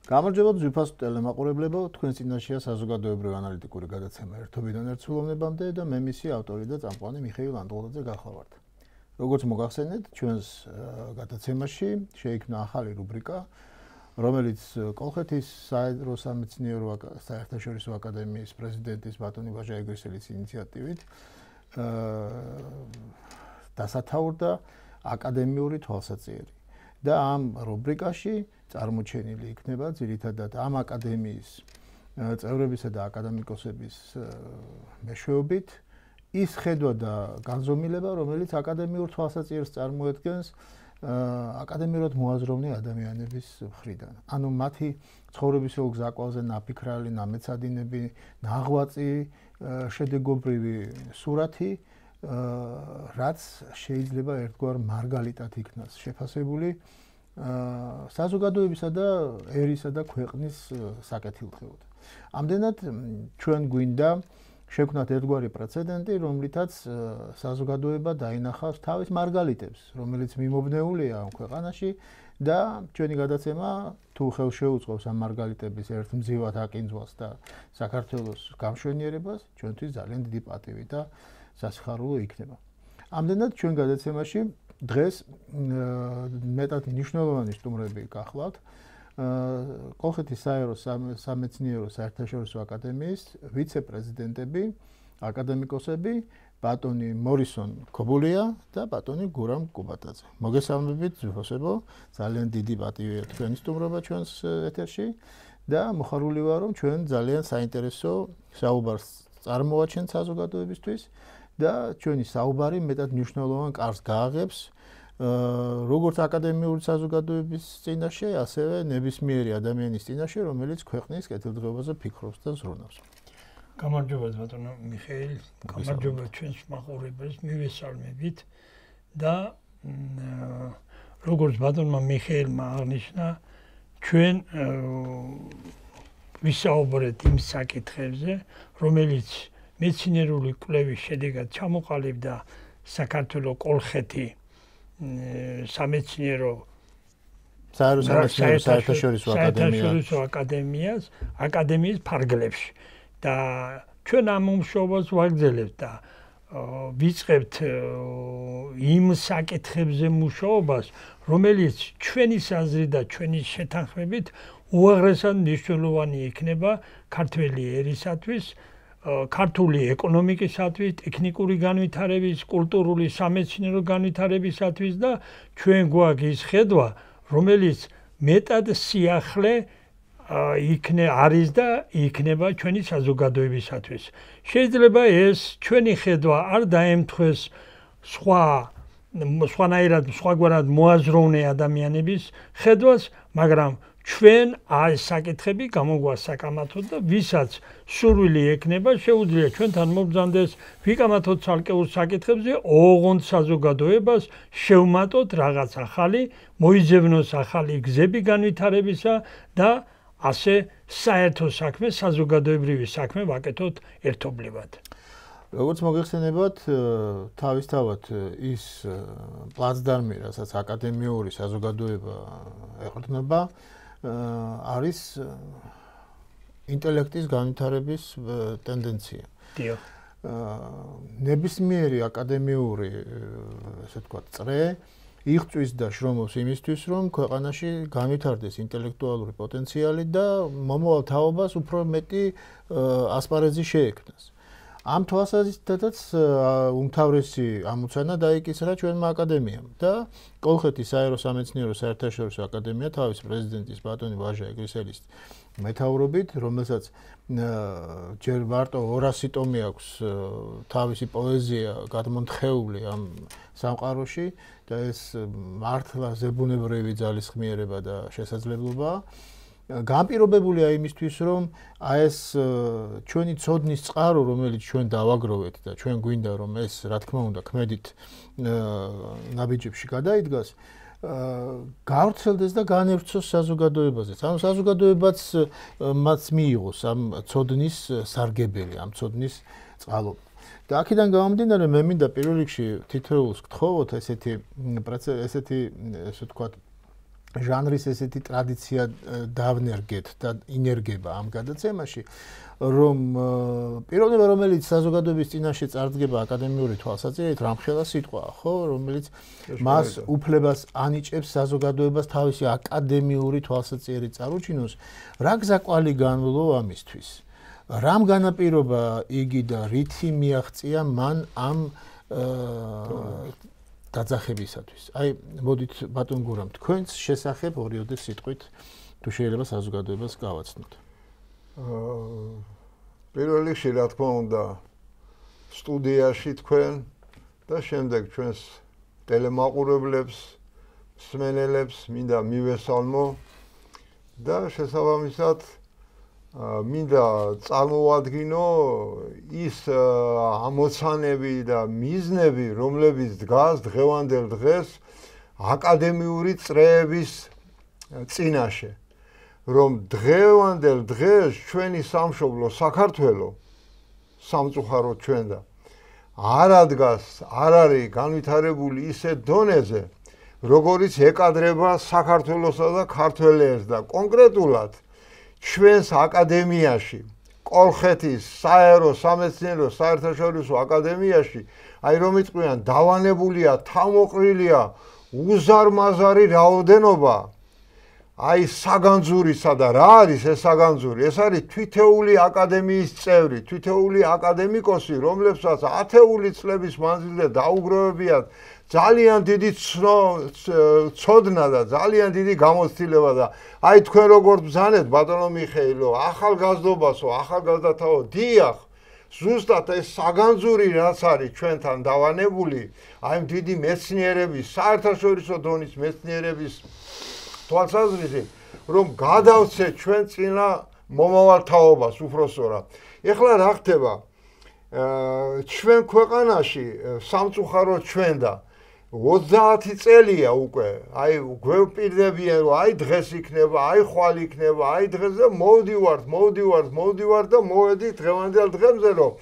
გამარჯობა ძვირფასო ტელემაყურებლებო, თქვენ წინაშეა საზოგადოებრივი ანალიტიკური გადაცემა ერთობიდან ერთსრულოვნებამდე და მე მისი ავტორი და წამყვანი მიხეილ ანდღოლაძე გახლავართ. როგორც მოგახსენეთ, ჩვენს გადაცემაში შეიქმნა ახალი რუბრიკა, რომელიც კოლხეთის საერთო სამეცნიერო საერთაშორისო აკადემიის პრეზიდენტის ბატონი ვაჟა ეგრისელის ინიციატივით დასათაურდა აკადემიური თვალსაჩინო. და ამ რუბრიკაში წარმოჩენილი იქნება ძირითადად ამ აკადემიის წევრებისა და აკადემიკოსების მეშვეობით ის ხედვა და განზომილება, რომელიც აკადემიურ თვალსაჩინოს წარმოადგენს აკადემიურად მოაზროვნე ადამიანების მხრიდან. ანუ მათი ცხოვრებისეულ გზაკვაზე ნაფიქრალი, ნამეცადინები, ნაღვაწი, შედეგობრივი სურათი, რაც შეიძლება ერთგვარ მარგალიტად იქნას შეფასებული საზოგადოებისა და ერისა და ქვეყნის საკეთილდღეოდ. ამდენად ჩვენ გვინდა შევქმნათ ერთგვარი პრეცედენტი, რომლითაც საზოგადოება დაინახავს თავის მარგალიტებს, რომელიც მიმობნეულია ამ ქვეყანაში და ჩვენი გადაცემა თუ ხელშეუწყობს ამ მარგალიტების ერთმძივად აკინძვას და საქართველოს გამშვენიერებას, ჩვენთვის ძალიან დიდი პატივი და სასიხარულო იქნება. ამდენად ჩვენ გადაცემაში დღეს მეტად მნიშვნელოვანი სტუმრები გახლავთ. კოლხეთის საერთო სამეცნიერო საერთაშორისო აკადემიის ვიცე-პრეზიდენტები, აკადემიკოსები, ბატონი მორისონ ქობულია და ბატონი გურამ კუბატაძე. მოგესალმებით ძვირფასებო, ძალიან დიდი პატივია თქვენი სტუმრობა ჩვენს ეთერში და მოხარული ვარ, რომ ჩვენ ძალიან საინტერესო საუბარს წარმოაჩენთ საზოგადოებისთვის. და ჩვენი საუბარი მეტად მნიშვნელოვან კარგს გააღებს როგორც აკადემიური საზოგადოების წინაშე, ასევე ნებისმიერი ადამიანის წინაშე, რომელიც ქვეყნის კეთილდღეობაზე ფიქრობს და ზრუნავს. გამარჯობა ბატონო მიხეილ, გამარჯობა ჩვენს მაყურებელს, მივესალმებით და როგორც ბატონმა მიხეილმა აღნიშნა, ჩვენ ვისაუბრეთ იმ საკითხებზე, რომელიც მეცნიერული კვლევის შედეგად ჩამოყალიბდა საქართველოს კოლხეთი სამეცნიერო საერთაშორისო აკადემიის ფარგლებში და ჩვენ ამ მუშაობას ვაგრძელებთ და ვიწყებთ იმ საკითხებზე მუშაობას, რომელიც ჩვენი აზრით და ჩვენი შეთანხმებით უაღრესად მნიშვნელოვანი იქნება ქართველი ერისათვის, ქართული ეკონომიკისათვის, ტექნიკური განვითარების, კულტურული სამეცნიერო განვითარებისათვის და ჩვენ გვაქვს ის ხედვა, რომელიც მეტად სიახლე არის და იქნება ჩვენი საზოგადოებისათვის. შეიძლება ეს ჩვენი ხედვა არ დაემთხვეს სხვაგვარად მოაზროვნე ადამიანების ხედვას, მაგრამ ჩვენ ეს საკითხები გამოგვასაკამათოთ და ვისაც სურვილი ექნება, შეუძლია ჩვენთან მობრძანდეს ვიკამათოთ ცალკეულ საკითხებზე, ოღონდ საზოგადოებას შევმატოთ რაღაც ახალი, მოიძებნოს ახალი გზები განვითარებისა და ასე საერთო საქმე, საზოგადოებრივი საქმე ვაკეთოთ ერთობლივად. როგორც მოგეხსენებათ, თავისთავად ის პლაცდარმი, რასაც აკადემიური საზოგადოება ეყრდნობა, არის ინტელექტის განვითარების ტენდენცია. დიახ. ნებისმიერი აკადემიური, ესე ვთქვათ, წრე იღწვის და შრომობს იმისთვის, რომ ქვეყანაში განვითარდეს ინტელექტუალური პოტენციალი და მომავალ თაობას უფრო მეტი ასპარეზი შეექმნას. ამ თვალსაზრისითაც უმთავრესი ამოცანა დაიკისრა ჩვენმა აკადემიამ და კოლხეთის საერთო სამეცნიერო საერთაშორისო აკადემია თავის პრეზიდენტის ბატონი ვაჟა ეგრისელის მეთაურობით, რომელსაც ჯერ მარტო 200 ტომი აქვს თავისი პოეზია გადმონთხეული ამ სამყაროში და ეს მართლა ზებუნებრივი ძალისხმიერება და შესაძლებლობაა. განპირობებულია იმისთვის, რომ ეს ჩვენი ცოდნის წყარო, რომელიც ჩვენ დავაგროვეთ და ჩვენ გვინდა, რომ ეს, რა თქმა უნდა, ქმედით ნაბიჯებში გადაიდგას, გავრცელდეს და განევრცოს საზოგადოებაზე. ანუ საზოგადოებაც მას მიიღოს ამ ცოდნის სარგებელი, ამ ცოდნის წყალობა. და აქედან გამომდინარე, მე მინდა პირველ რიგში თითოეულს გთხოვოთ ესეთი, ესე ვთქვათ, ჟანრის ესეთი ტრადიცია დავნერგეთ და ინერგება ამ გადაცემაში, რომ პიროვნება, რომელიც საზოგადოების წინაშე წარდგება აკადემიური თვალსაჩინით, რამხელა სიტყვაა, ხო, რომელიც მას უფლებას ანიჭებს საზოგადოებას თავისი აკადემიური თვალსაჩინით წარუჩინოს, რა გზაკვალი განვლო ამისთვის? რამ განაპირობა იგი და რითი მიაღწია მან ამ დაძახებისათვის? აი, მოდით ბატონ გურამ, თქვენს შესახებ ორიოდე სიტყვით თუ შეიძლება საზოგადოებას გავაცნოთ. პირველ რიგში, რა თქმა უნდა, სტუდიაში თქვენ და შემდეგ ჩვენს ტელემაყურებლებს, მსმენელებს მინდა მივესალმო და შესაბამისად მინდა წარმოვადგინო ის ამოცანები და მიზნები, რომლებიც დგას დღევანდელ დღეს აკადემიური წრეების წინაშე. რომ დღევანდელ დღეს ჩვენი სამშობლო საქართველო სამწუხაროდ ჩვენ და არ ადგას, არ არის განვითარებული ისეთ დონეზე, როგორიც ეკადრება საქართველოსა და ქართველებს და კონკრეტულად ჩვენს აკადემიაში, კოლხეთის საერო სამეცნიერო საერთაშორისო აკადემიაში, აი რომ იტყვიან, დავანებულია, თავმოყრილია უზარმაზარი რაოდენობა აი საგანძურისა და რა არის ეს საგანძური? ეს არის თითოეული აკადემიის წევრი, თითოეული აკადემიკოსი, რომლებსაც ათეული წლების მანძილზე დაუგროვებიათ ძალიან დიდი ცოდნა და ძალიან დიდი გამოცდილება და აი თქვენ როგორ ბრძანეთ ბატონო მიხეილო, ახალგაზრდობასო, ახალგაზრდათაო, დიახ, ზუსტად ეს საგანძური რაც არის ჩვენთან დავანებული, აი დიდი მეცნიერების, საერთაშორისო დონის მეცნიერების თვალსაზრისით, რომ გადავცეთ ჩვენ წინა მომავალთაობას უბრალოდ. ეხლა რა ხდება? ჩვენ ქვეყანაში სამწუხაროდ ჩვენ და 30 წელია უკვე, აი გვევპირდებიან, რომ აი დღეს იქნება, აი ხვალ იქნება, აი დღეს და მოვდივართ და მოვედით დღევანდელ დღემზე, რომ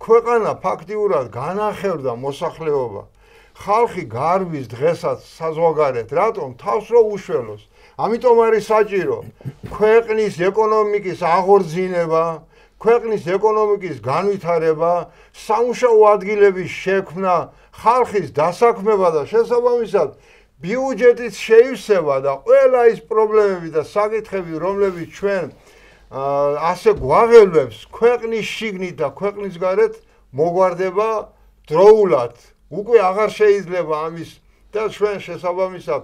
ქვეყანა ფაქტიურად განახევდა მოსახლეობა. ხალხი გარბის დღესაც საზღვარგარეთ, რატომ? თავს რო უშველოს. ამიტომ არის საჭირო ქვეყნის ეკონომიკის აღორძინება, ქვეყნის ეკონომიკის განვითარება, სამუშაო ადგილების შექმნა, ხალხის დასაქმება და შესაბამისად ბიუჯეტის შეივსება და ყველა ის პრობლემები და საკითხები, რომლებიც ჩვენ ასე გვაღელვებს ქვეყნის შიგნით და ქვეყნის გარეთ მოგვარდება დროულად. უკვე აღარ შეიძლება ამის და ჩვენ შესაბამისად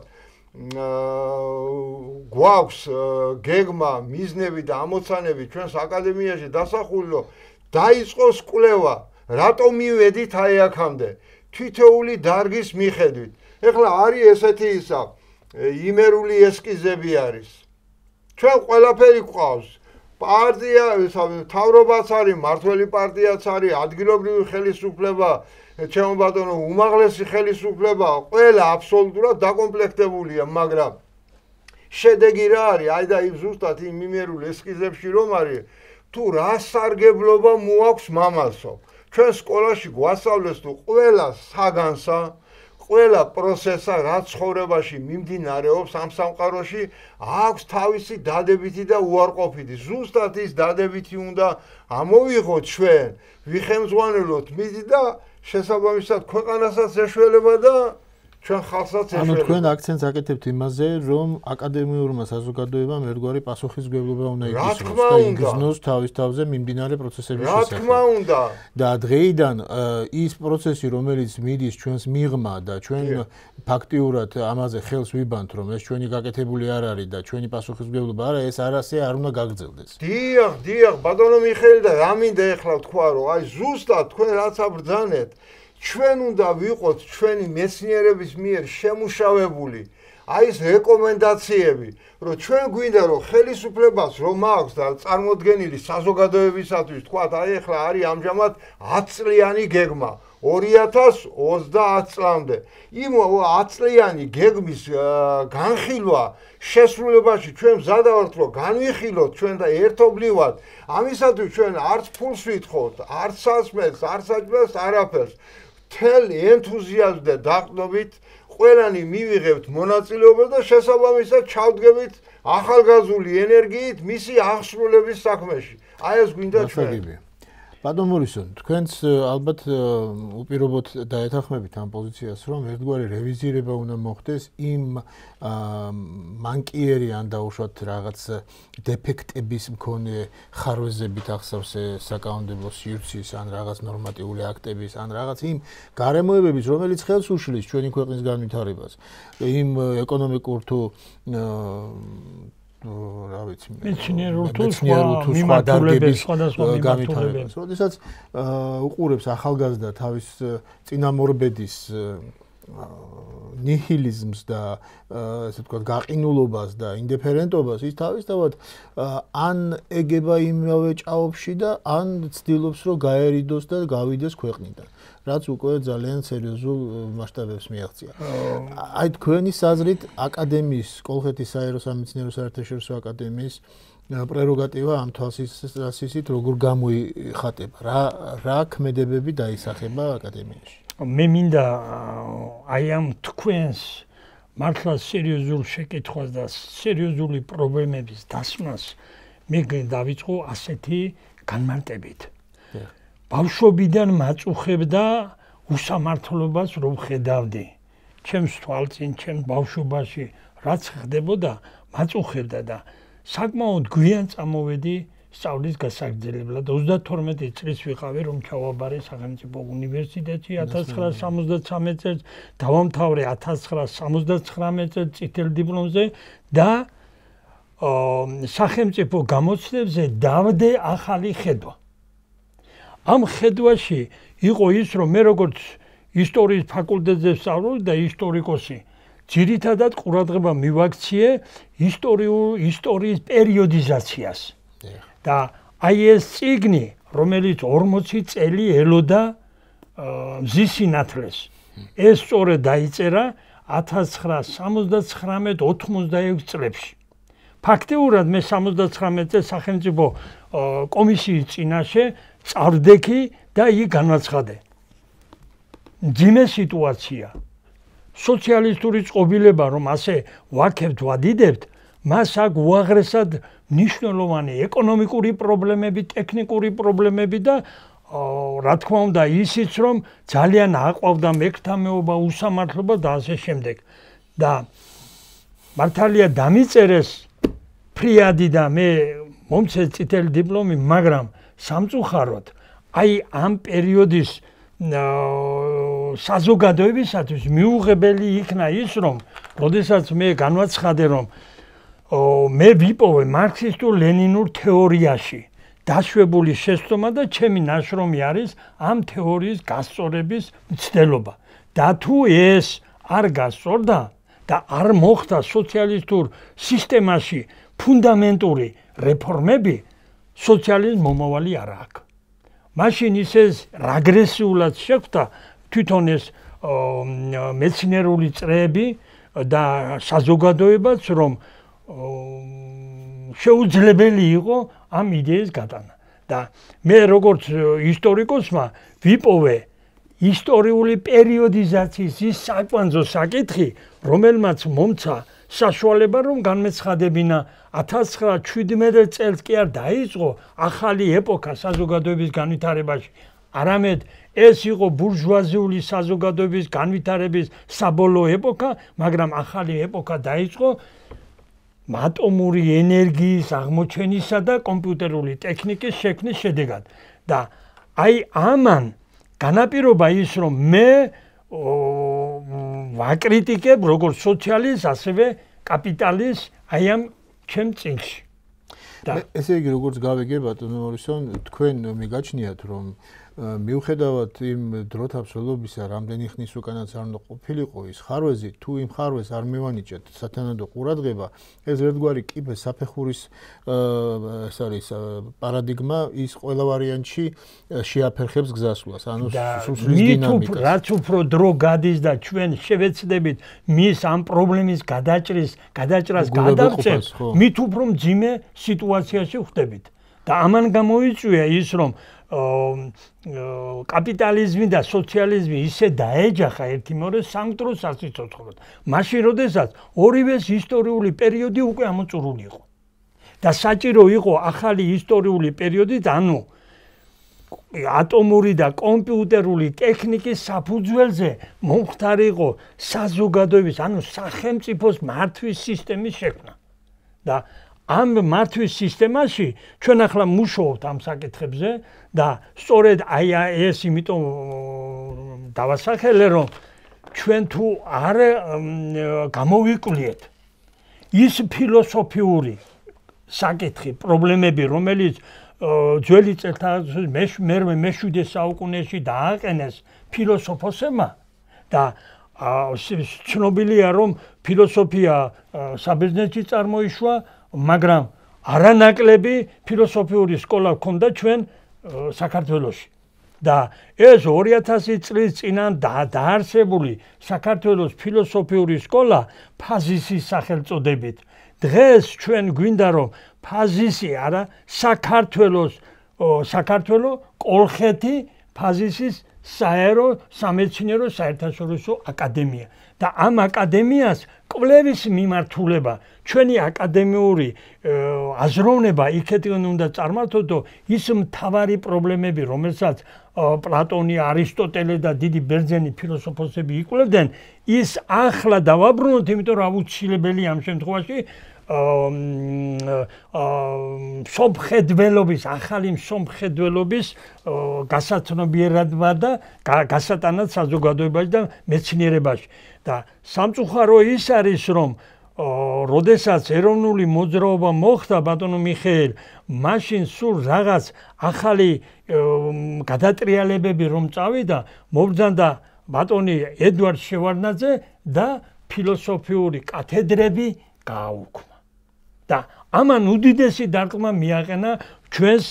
გვაქვს გეგმა, მიზნები და ამოცანები ჩვენს აკადემიაში დასახული, რომ დაიწყოს კვლევა, რატომ მივედით აი აქამდე, თითოეული დარგის მიხედვით. ეხლა არის ესეთი ისა, იმერული ესკიზები არის. ჩვენ ყველაფერი გვყავს. პარტია, მთავრობაც არის, მმართველი პარტიაც არის, ადგილობრივი ხელისუფლება, ჩემო ბატონო, უმაღლესი ხელისუფლება, ყველა აბსოლუტურად დაკომპლექტებულია, მაგრამ შედეგი რა არის? აი და იმ ზუსტად იმ იმერულ ესკიზებში რომ არის, თუ რა სარგებლობა მოაქვს მამალსო. ჩვენ სკოლაში გვასწავლეს თუ ყველა საგანსა, ყველა პროცესა, რაც ცხოვრებაში მიმდინარეობს ამ სამყაროში, აქვს თავისი დადებითი და უარყოფითი. ზუსტად ის დადებითი უნდა ამოვიღოთ ჩვენ, ვიხემძღვანელოთ მით და შესაბამისად ქვეყანასაც ეშველება და ჩვენ ხალხსაც ეშველება. ანუ თქვენ აქცენტს აკეთებთ იმაზე, რომ აკადემიურმა საზოგადოებამ ერთგვარი პასუხისმგებლობა უნდა იგრძნოს და იგრძნოს თავის თავზე მიმდინარე პროცესების შესახებ. რა თქმა უნდა. და დღეიდან ის პროცესი, რომელიც მიდის ჩვენს მიღმა და ჩვენ ფაქტიურად ამაზე ხელს ვიბანთ, რომ ეს ჩვენი გაკეთებული არ არის და ჩვენი პასუხისმგებლობა არა, ეს არასე არ უნდა გაგრძელდეს. დიახ, ბატონო მიხეილი და რა მინდა ეხლა თქვა, რომ აი ზუსტად თქვენ რაც აბრძანეთ, ჩვენ უნდა ვიყოთ ჩვენი მეცნიერების მიერ შემუშავებული აი ეს რეკომენდაციები, რომ ჩვენ გვინდა რომ ხელისუფლებას რომ აქვს და წარმოდგენილი საზოგადოებისათვის თქვათ, აი ეხლა არის ამჟამად 10 წლიანი გეგმა 2030 წლამდე. იმ 10 წლიანი გეგმის განხილვა შესრულებაში ჩვენ მზადა ვართ რომ განვიხილოთ ჩვენ და ერთობლივად. ამისათვის ჩვენ არც ფულს ვითხოვთ, არც სასმელს, არც საჭმელს, არაფერს. მთელ ენთუზიაზმით და დაყრდნობით ყველანი მივიღებთ მონაწილეობა და შესაბამისად ჩავდგებით ახალგაზრული ენერგიით მისი აღსრულების საქმეში. აი ეს გვინდა ჩვენ. ბატონ მურისონ, თქვენც ალბათ უპირობოდ დაეთანხმებით ამ პოზიციას, რომ ერთგვარი რევიზირება უნდა მოხდეს იმ მანკიერი ან დაუშვათ რაღაც დეფექტების მქონე ხარვეზებით ახსავს საკანონმდებლო სივრცის ან რაღაც ნორმატიული აქტების ან რაღაც იმ გარემოებების, რომელიც ხელს უშლის ჩვენი ქვეყნის განვითარებას. იმ ეკონომიკურ თუ რა ვიცი მეცნიერულ თუ სხვა დარგების განვითარებას. როდესაც უყურებს ახალგაზრდა თავის წინამორბედის ნიჰილიზმს და ესე ვთქვათ გაყინულობას და ინდიფერენტობას, ის თავისთავად ან ეგება იმავე ჭაობში და ან ცდილობს რომ გაერიდოს და გავიდეს ქვეყნიდან. რაც უკვე ძალიან სერიოზულ მასშტაბებს მიაღწია. აი თქვენი საზრით აკადემიის, კოლხეთის საერო სამეცნიერო საერთაშორისო აკადემიის პრეროგატივა ამ თვალსაზრისით როგორ გამოიხატება? რა ქმედებები დაისახება აკადემიაში? მე მინდა აი ამ თქვენს მართლა სერიოზულ შეკითხვას და სერიოზული პრობლემების დასმას მე დავიწყო ასეთი განმარტებით. ბავშვობიდან მაწუხებდა უსამართლობას რომ ხედავდი. ჩემს თვალწინ, ჩემს ბავშვობაში რაც ხდებოდა, მაწუხებდა და საკმაოდ გვიან წამოვედი სწავლის გასაგრძელებლად. 32 წლის ვიყავი რომ ჩავაბარე სახელმწიფო უნივერსიტეტში 1973 წელს, დავამთავრე 1979 წელს წითელ დიპლომზე და სახელმწიფო გამოცდებზე დავდე ახალი ხედვა. ამ ხედვაში იყო ის, რომ მე როგორც ისტორიის ფაკულტეტზე ვსწავლობდი და ისტორიკოსი, ძირითადად ყურადღება მივაქციე ისტორიის პერიოდიზაციას. და აი ეს წიგნი, რომელიც 40 წელი ელოდა მზის სინათლეს, ეს სწორედ დაიწერა 1979-86 წლებში. ფაქტიურად მე 79 წელს სახელმწიფო კომისიის წინაშე წავდექი და იქ განაცხადე. ძიმე სიტუაცია. სოციალისტური წყობილება რომ ასე ვაქებთ, ვადიდებთ, მას აქ უაღრესად მნიშვნელოვანი ეკონომიკური პრობლემები, ტექნიკური პრობლემები და რა თქმა უნდა ისიც რომ ძალიან აყვავდა მეკრთამეობა, უსამართლობა და ასე შემდეგ. და მართალია დამიწერეს ფრიადი და მე მომცე წითელი დიპლომი, მაგრამ სამწუხაროდ აი ამ პერიოდის საზოგადოებისათვის მიუღებელი იქნა ის რომ როდესაც მე განვაცხადე რომ მე ვიპოვე მარქსისტულ-ლენინურ თეორიაში დაშვებული შეცდომა და ჩემი ნაშრომი არის ამ თეორიის გასწორების მცდელობა. და თუ ეს არ გასწორდა და არ მოხდა სოციალისტურ სისტემაში ფუნდამენტური რეფორმები, სოციალიზმ მომავალი არ აქვს. მაშინ ისეს რეგრესიულად შეხვდა თვითონ ეს მეცნიერული წრეები და საზოგადოებაც რომ შეუძლებელი იყო ამ იდეის გატანა. და მე როგორც ისტორიკოსმა ვიპოვე ისტორიული პერიოდიზაციის ის საკვანძო საკითხი, რომელმაც მომცა საშუალება რომ განმეცხადებინა 1917 წელს კი არ დაიწყო ახალი ეპოქა საზოგადოების განვითარებაში. არამედ ეს იყო ბურჟუაზიული საზოგადოების განვითარების საბოლოო ეპოქა, მაგრამ ახალი ეპოქა დაიწყო ატომური ენერგიის აღმოჩენისა და კომპიუტერული ტექნიკის შექმნის შედეგად. და აი ამან განაპირობა ის რომ მე ვაკრიტიკებ როგორც სოციალისტს, ასევე კაპიტალისტს აი ამ ჩემ წიგნში. ესე იგი როგორც გავიგე ბატონო მორისონ, თქვენ მიგაჩნიათ რომ მიუხედავად იმ დროთა ბრძოლობისა, რამდენი ხნის უკანაც არ უნდა ყოფილიყო ის ხარვეზი, თუ იმ ხარვეზს არ მივანიჭეთ სათანადო ყურადღება, ეს ერთგვარი კიბე საფეხურის ეს არის პარადიგმა, ის ყველა ვარიანტში შეაფერხებს გზასვლას, ანუ სუსლის დინამიკას. რაც უფრო დრო გადის და ჩვენ შევეცდებით მის ამ პრობლემის გადაჭრას გადავწევთ, მით უფრო მძიმე სიტუაციაში ვხდებით. და ამან გამოიწვია ის რომ კაპიტალიზმი და სოციალიზმი ისე დაეჯახა ერთი მეორე სამკვდრო სასიცოცხლოდ. მაშინ, როდესაც ორივეს ისტორიული პერიოდი უკვე ამოწურული იყო. და საჭირო იყო ახალი ისტორიული პერიოდი, ანუ ატომური და კომპიუტერული ტექნიკის საფუძველზე მომხდარიყო საზოგადოების, ანუ სახელმწიფოს მართვის სისტემის შექმნა. და ამ მართვის სისტემაში ჩვენ ახლა მუშაობთ ამ საკითხებზე და სწორედ აი ეს იმიტომ დავასახელე, რომ ჩვენ თუ არ გამოვიკვლიეთ ის ფილოსოფიური საკითხი, პრობლემები, რომელიც ძველი წელთაღრიცხვის მე-7 საუკუნეში დააყენეს ფილოსოფოსებმა და ცნობილია, რომ ფილოსოფია საბერძნეთში წარმოიშვა, მაგრამ არანაკლები ფილოსოფიური სკოლა ჰქონდა ჩვენ საქართველოში. და ეს 2000 წლის წინან დაარსებული საქართველოს ფილოსოფიური სკოლა ფაზისის სახელწოდებით. დღეს ჩვენ გვინდა, რომ ფაზისი არა, საქართველო კოლხეთი ფაზისის საერო სამეცნიერო საერთაშორისო აკადემია. და ამ აკადემიას კვლევის მიმართულება, ჩვენი აკადემიური აზროვნება იქეთკენ უნდა წარმართოთ, ის მთავარი პრობლემები, რომელსაც პლატონი, არისტოტელე და დიდი ბერძენი ფილოსოფოსები იკვლევდნენ, ის ახლა დავაბრუნოთ, იმიტომ რომ აუცილებელია ამ შემთხვევაში სომხედველობის, ახალი სომხედველობის გასაცნობიერება და გასატანად საზოგადოებაში და მეცნიერებაში. და სამწუხარო ის არის, რომ როდესაც ეროვნული მოძრაობა მოხდა ბატონო მიხეილ, მაშინ სულ რაღაც ახალი გადატრიალებები რომ წავიდა, მობრძანდა ბატონი ედვარდ შევარდნაძე და ფილოსოფიური კათედრები გააუქმა. და ამან უდიდესი დარტყმა მიაყენა ჩვენს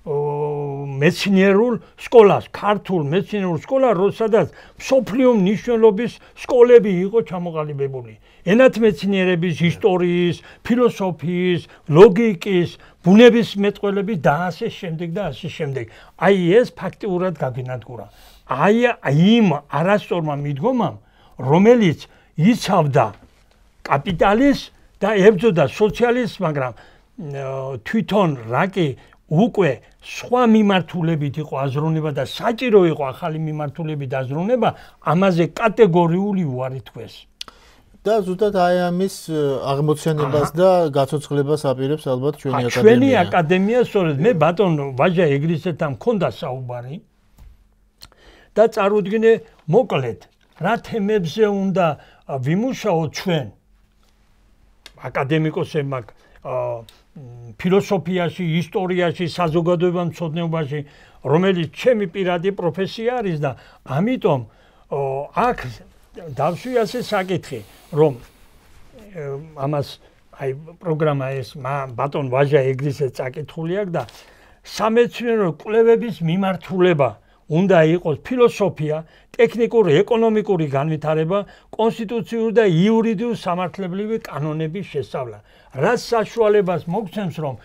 მეცნიერულ სკოლას, ქართულ მეცნიერულ სკოლას, სადაც მსოფლიო მნიშვნელობის სკოლები იყო ჩამოყალიბებული. ენათმეცნიერების, ისტორიის, ფილოსოფიის, ლოგიკის, ბუნებისმეტყველების და ასე შემდეგ და ასე შემდეგ. აი ეს ფაქტიურად გაგინადგურა. აი იმ არასწორმა მიდგომამ, რომელიც იცავდა კაპიტალიზმს და ებრძოდა სოციალიზმს, მაგრამ თვითონ რაკი უკვე სხვა მიმართულებით იყო აზროვნება და საჭირო იყო ახალი მიმართულებით აზროვნება, ამაზე კატეგორიული უარი თქვეს. და ზუსტად აი ამის აღმოცენებას და გაცოცხლებას აპირებს ალბათ ჩვენი აკადემია. ჩვენი აკადემია, სწორედ მე ბატონ ვაჟა ეგრისეთთან მქონდა საუბარი და წარუდგინე მოკლედ რა თემებზე უნდა ვიმუშაოთ ჩვენ აკადემიკოსებმა ფილოსოფიაში, ისტორიაში, საზოგადოებამცოდნეობაში, რომელიც ჩემი პირადი პროფესია არის და ამიტომ აქ დავშვი ასე საკითხი, რომ ამას აი პროგრამა ეს ბატონ ვაჟა ეგრისეთს წაკითხული აქვს და სამეცნიერო კვლევების მიმართულება უნდა იყოს ფილოსოფია, ტექნიკური, ეკონომიკური განვითარება, კონსტიტუციური და იურიდიული სამართლებრივი კანონების შესწავლა. რაც საშუალებას მოგცემს, რომ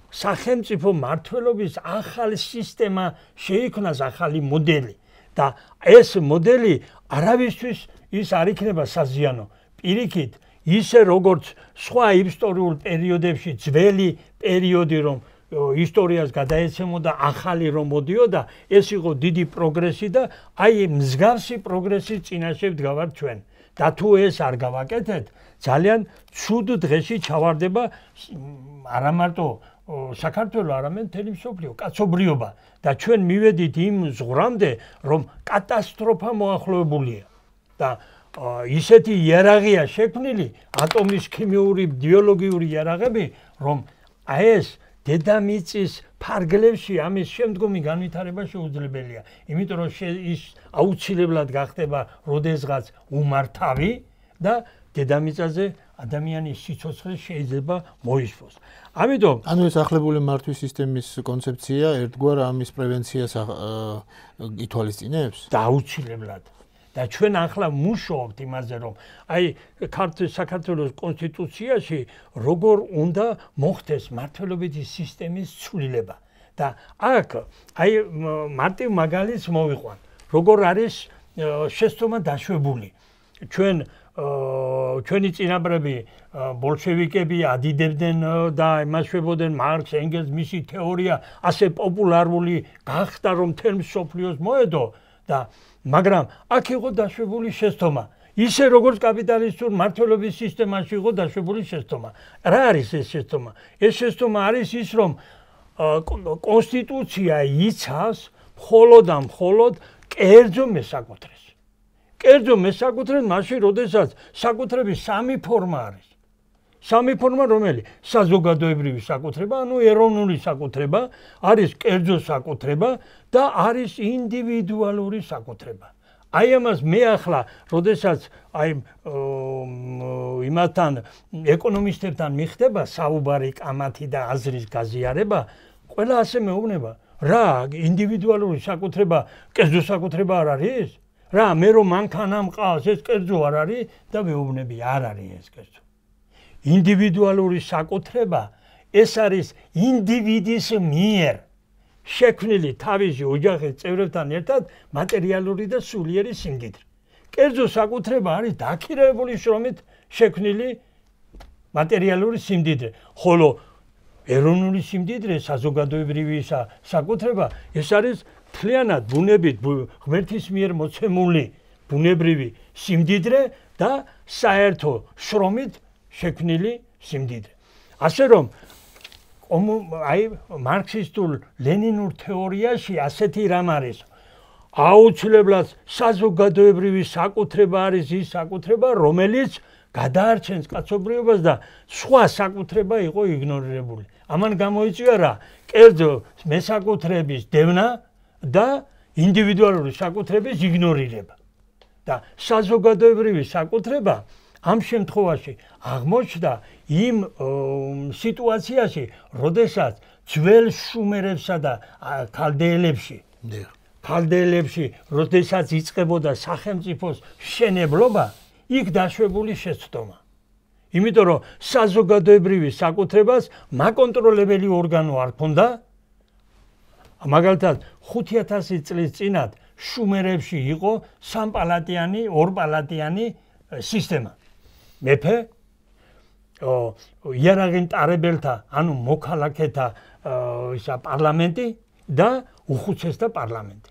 სახელმწიფო მმართველობის ახალი სისტემა შეიქმნას, ახალი მოდელი. და ეს მოდელი არავისთვის ის არ იქნება საზიანო. პირიქით, ისე როგორც სხვა ისტორიულ პერიოდებში ძველი პერიოდი, რომ ისტორიას გადაეცემოდა, ახალი რომ მოდიოდა, ეს იყო დიდი პროგრესი და აი მსგავსი პროგრესის წინაშე ვდგავართ ჩვენ. და თუ ეს არ გავაკეთეთ, ძალიან ცუდ დღეში ჩავარდება არა მარტო საქართველო, არამედ მთელი მსოფლიო, კაცობრიობა. და ჩვენ მივედით იმ ზღვრამდე, რომ კატასტროფა მოახლოებულია. და ისეთი იარაღია შექმნილი, ატომის ქიმიური, ბიოლოგიური იარაღები, რომ აი ეს დედამიწის ფარგლებში ამის შემდგომი განვითარება შეუძლებელია. იმიტომ რომ ის აუცილებლად გახდება როდესღაც უმართავი და დედამიწაზე ადამიანის სიცოცხლე შეიძლება მოისმოს. ამიტომ ანუ ეს ახლებული მართვის სისტემის კონცეფცია ერთგვარ ამის პრევენციას ითვალისწინებს? და აუცილებლად. და ჩვენ ახლა მუშაობთ იმაზე, რომ აი საქართველოს კონსტიტუციაში როგორ უნდა მოხდეს მმართველობითი სისტემის ცვლილება. და აქ აი მარტივ მაგალითს მოვიყვან. როგორ არის შეცდომა დაშვებული. ჩვენი წინაპრები ბოლშევიკები ადიდებდნენ და იმაშვებოდნენ მარქს, ენგელს, მისი თეორია ასე პოპულარული გახდა, რომ მთელ მსოფლიოს მოედო და მაგრამ აქ იყო დაშვებული შეცდომა. ისე როგორც კაპიტალისტურ მართლობის სისტემაში იყო დაშვებული შეცდომა. რა არის ეს შეცდომა? ეს შეცდომა არის ის, რომ კონსტიტუცია იცავს მხოლოდ კერძო მესაკუთრეს. კერძო მესაკუთრეს მაშინ, როდესაც საკუთრების სამი ფორმა არის. სამი ფორმა რომელი? საზოგადოებრივი საკუთრება, ანუ ეროვნული საკუთრება, არის კერძო საკუთრება და არის ინდივიდუალური საკუთრება. აი ამას მე ახლა, როდესაც აი იმათთან ეკონომისტებთან მიხდება საუბარი, კამათი და აზრის გაზიარება, ყველა ასე მეუბნება, რა ინდივიდუალური საკუთრება, კერძო საკუთრება არ არის? რა მე რომ მანქანა მყავს, ეს კერძო არ არის და მეუბნები არ არის ეს კერძო. ინდივიდუალური საკუთრება ეს არის ინდივიდის მიერ შექმნილი თავისი ოჯახის წევრებთან ერთად მატერიალური და სულიერი სიმდიდრე. კერძო საკუთრება არის დაქირავებული შრომით შექმნილი მატერიალური სიმდიდრე. ხოლო ეროვნული სიმდიდრე, საზოგადოებრივი საკუთრება, ეს არის მთლიანად ბუნებით ღმერთის მიერ მოცემული ბუნებრივი სიმდიდრე და საერთო შრომით შექმნილი სიმდიდრე. ასე რომ აი მარქსისტულ ლენინურ თეორიაში ასეთი რამ არის. აუცილებლად საზოგადოებრივი საკუთრება არის ის საკუთრება, რომელიც გადაარჩენს კაცობრიობას და სხვა საკუთრება იყო იგნორირებული. ამან გამოიწვია რა? კერძო მესაკუთრების დევნა და ინდივიდუალური საკუთრების იგნორირება. და საზოგადოებრივი საკუთრება ამ შემთხვევაში აღმოჩნდა იმ სიტუაციაში, როდესაც ძველ შუმერებსა და ქალდეელებში, როდესაც იწყებოდა სახელმწიფოს მშენებლობა, იქ დაშვებული შეცდომა. იმიტომ რომ საზოგადოებრივი საკუთრებას მაკონტროლებელი ორგანო არ ჰქონდა. მაგალითად 5000 წლის წინათ შუმერებში იყო სამპალატიანი, ორპალატიანი სისტემა. მეფე, იარაღინტარებელთა, ანუ მოქალაქეთა პარლამენტი და უხუცესთა პარლამენტი.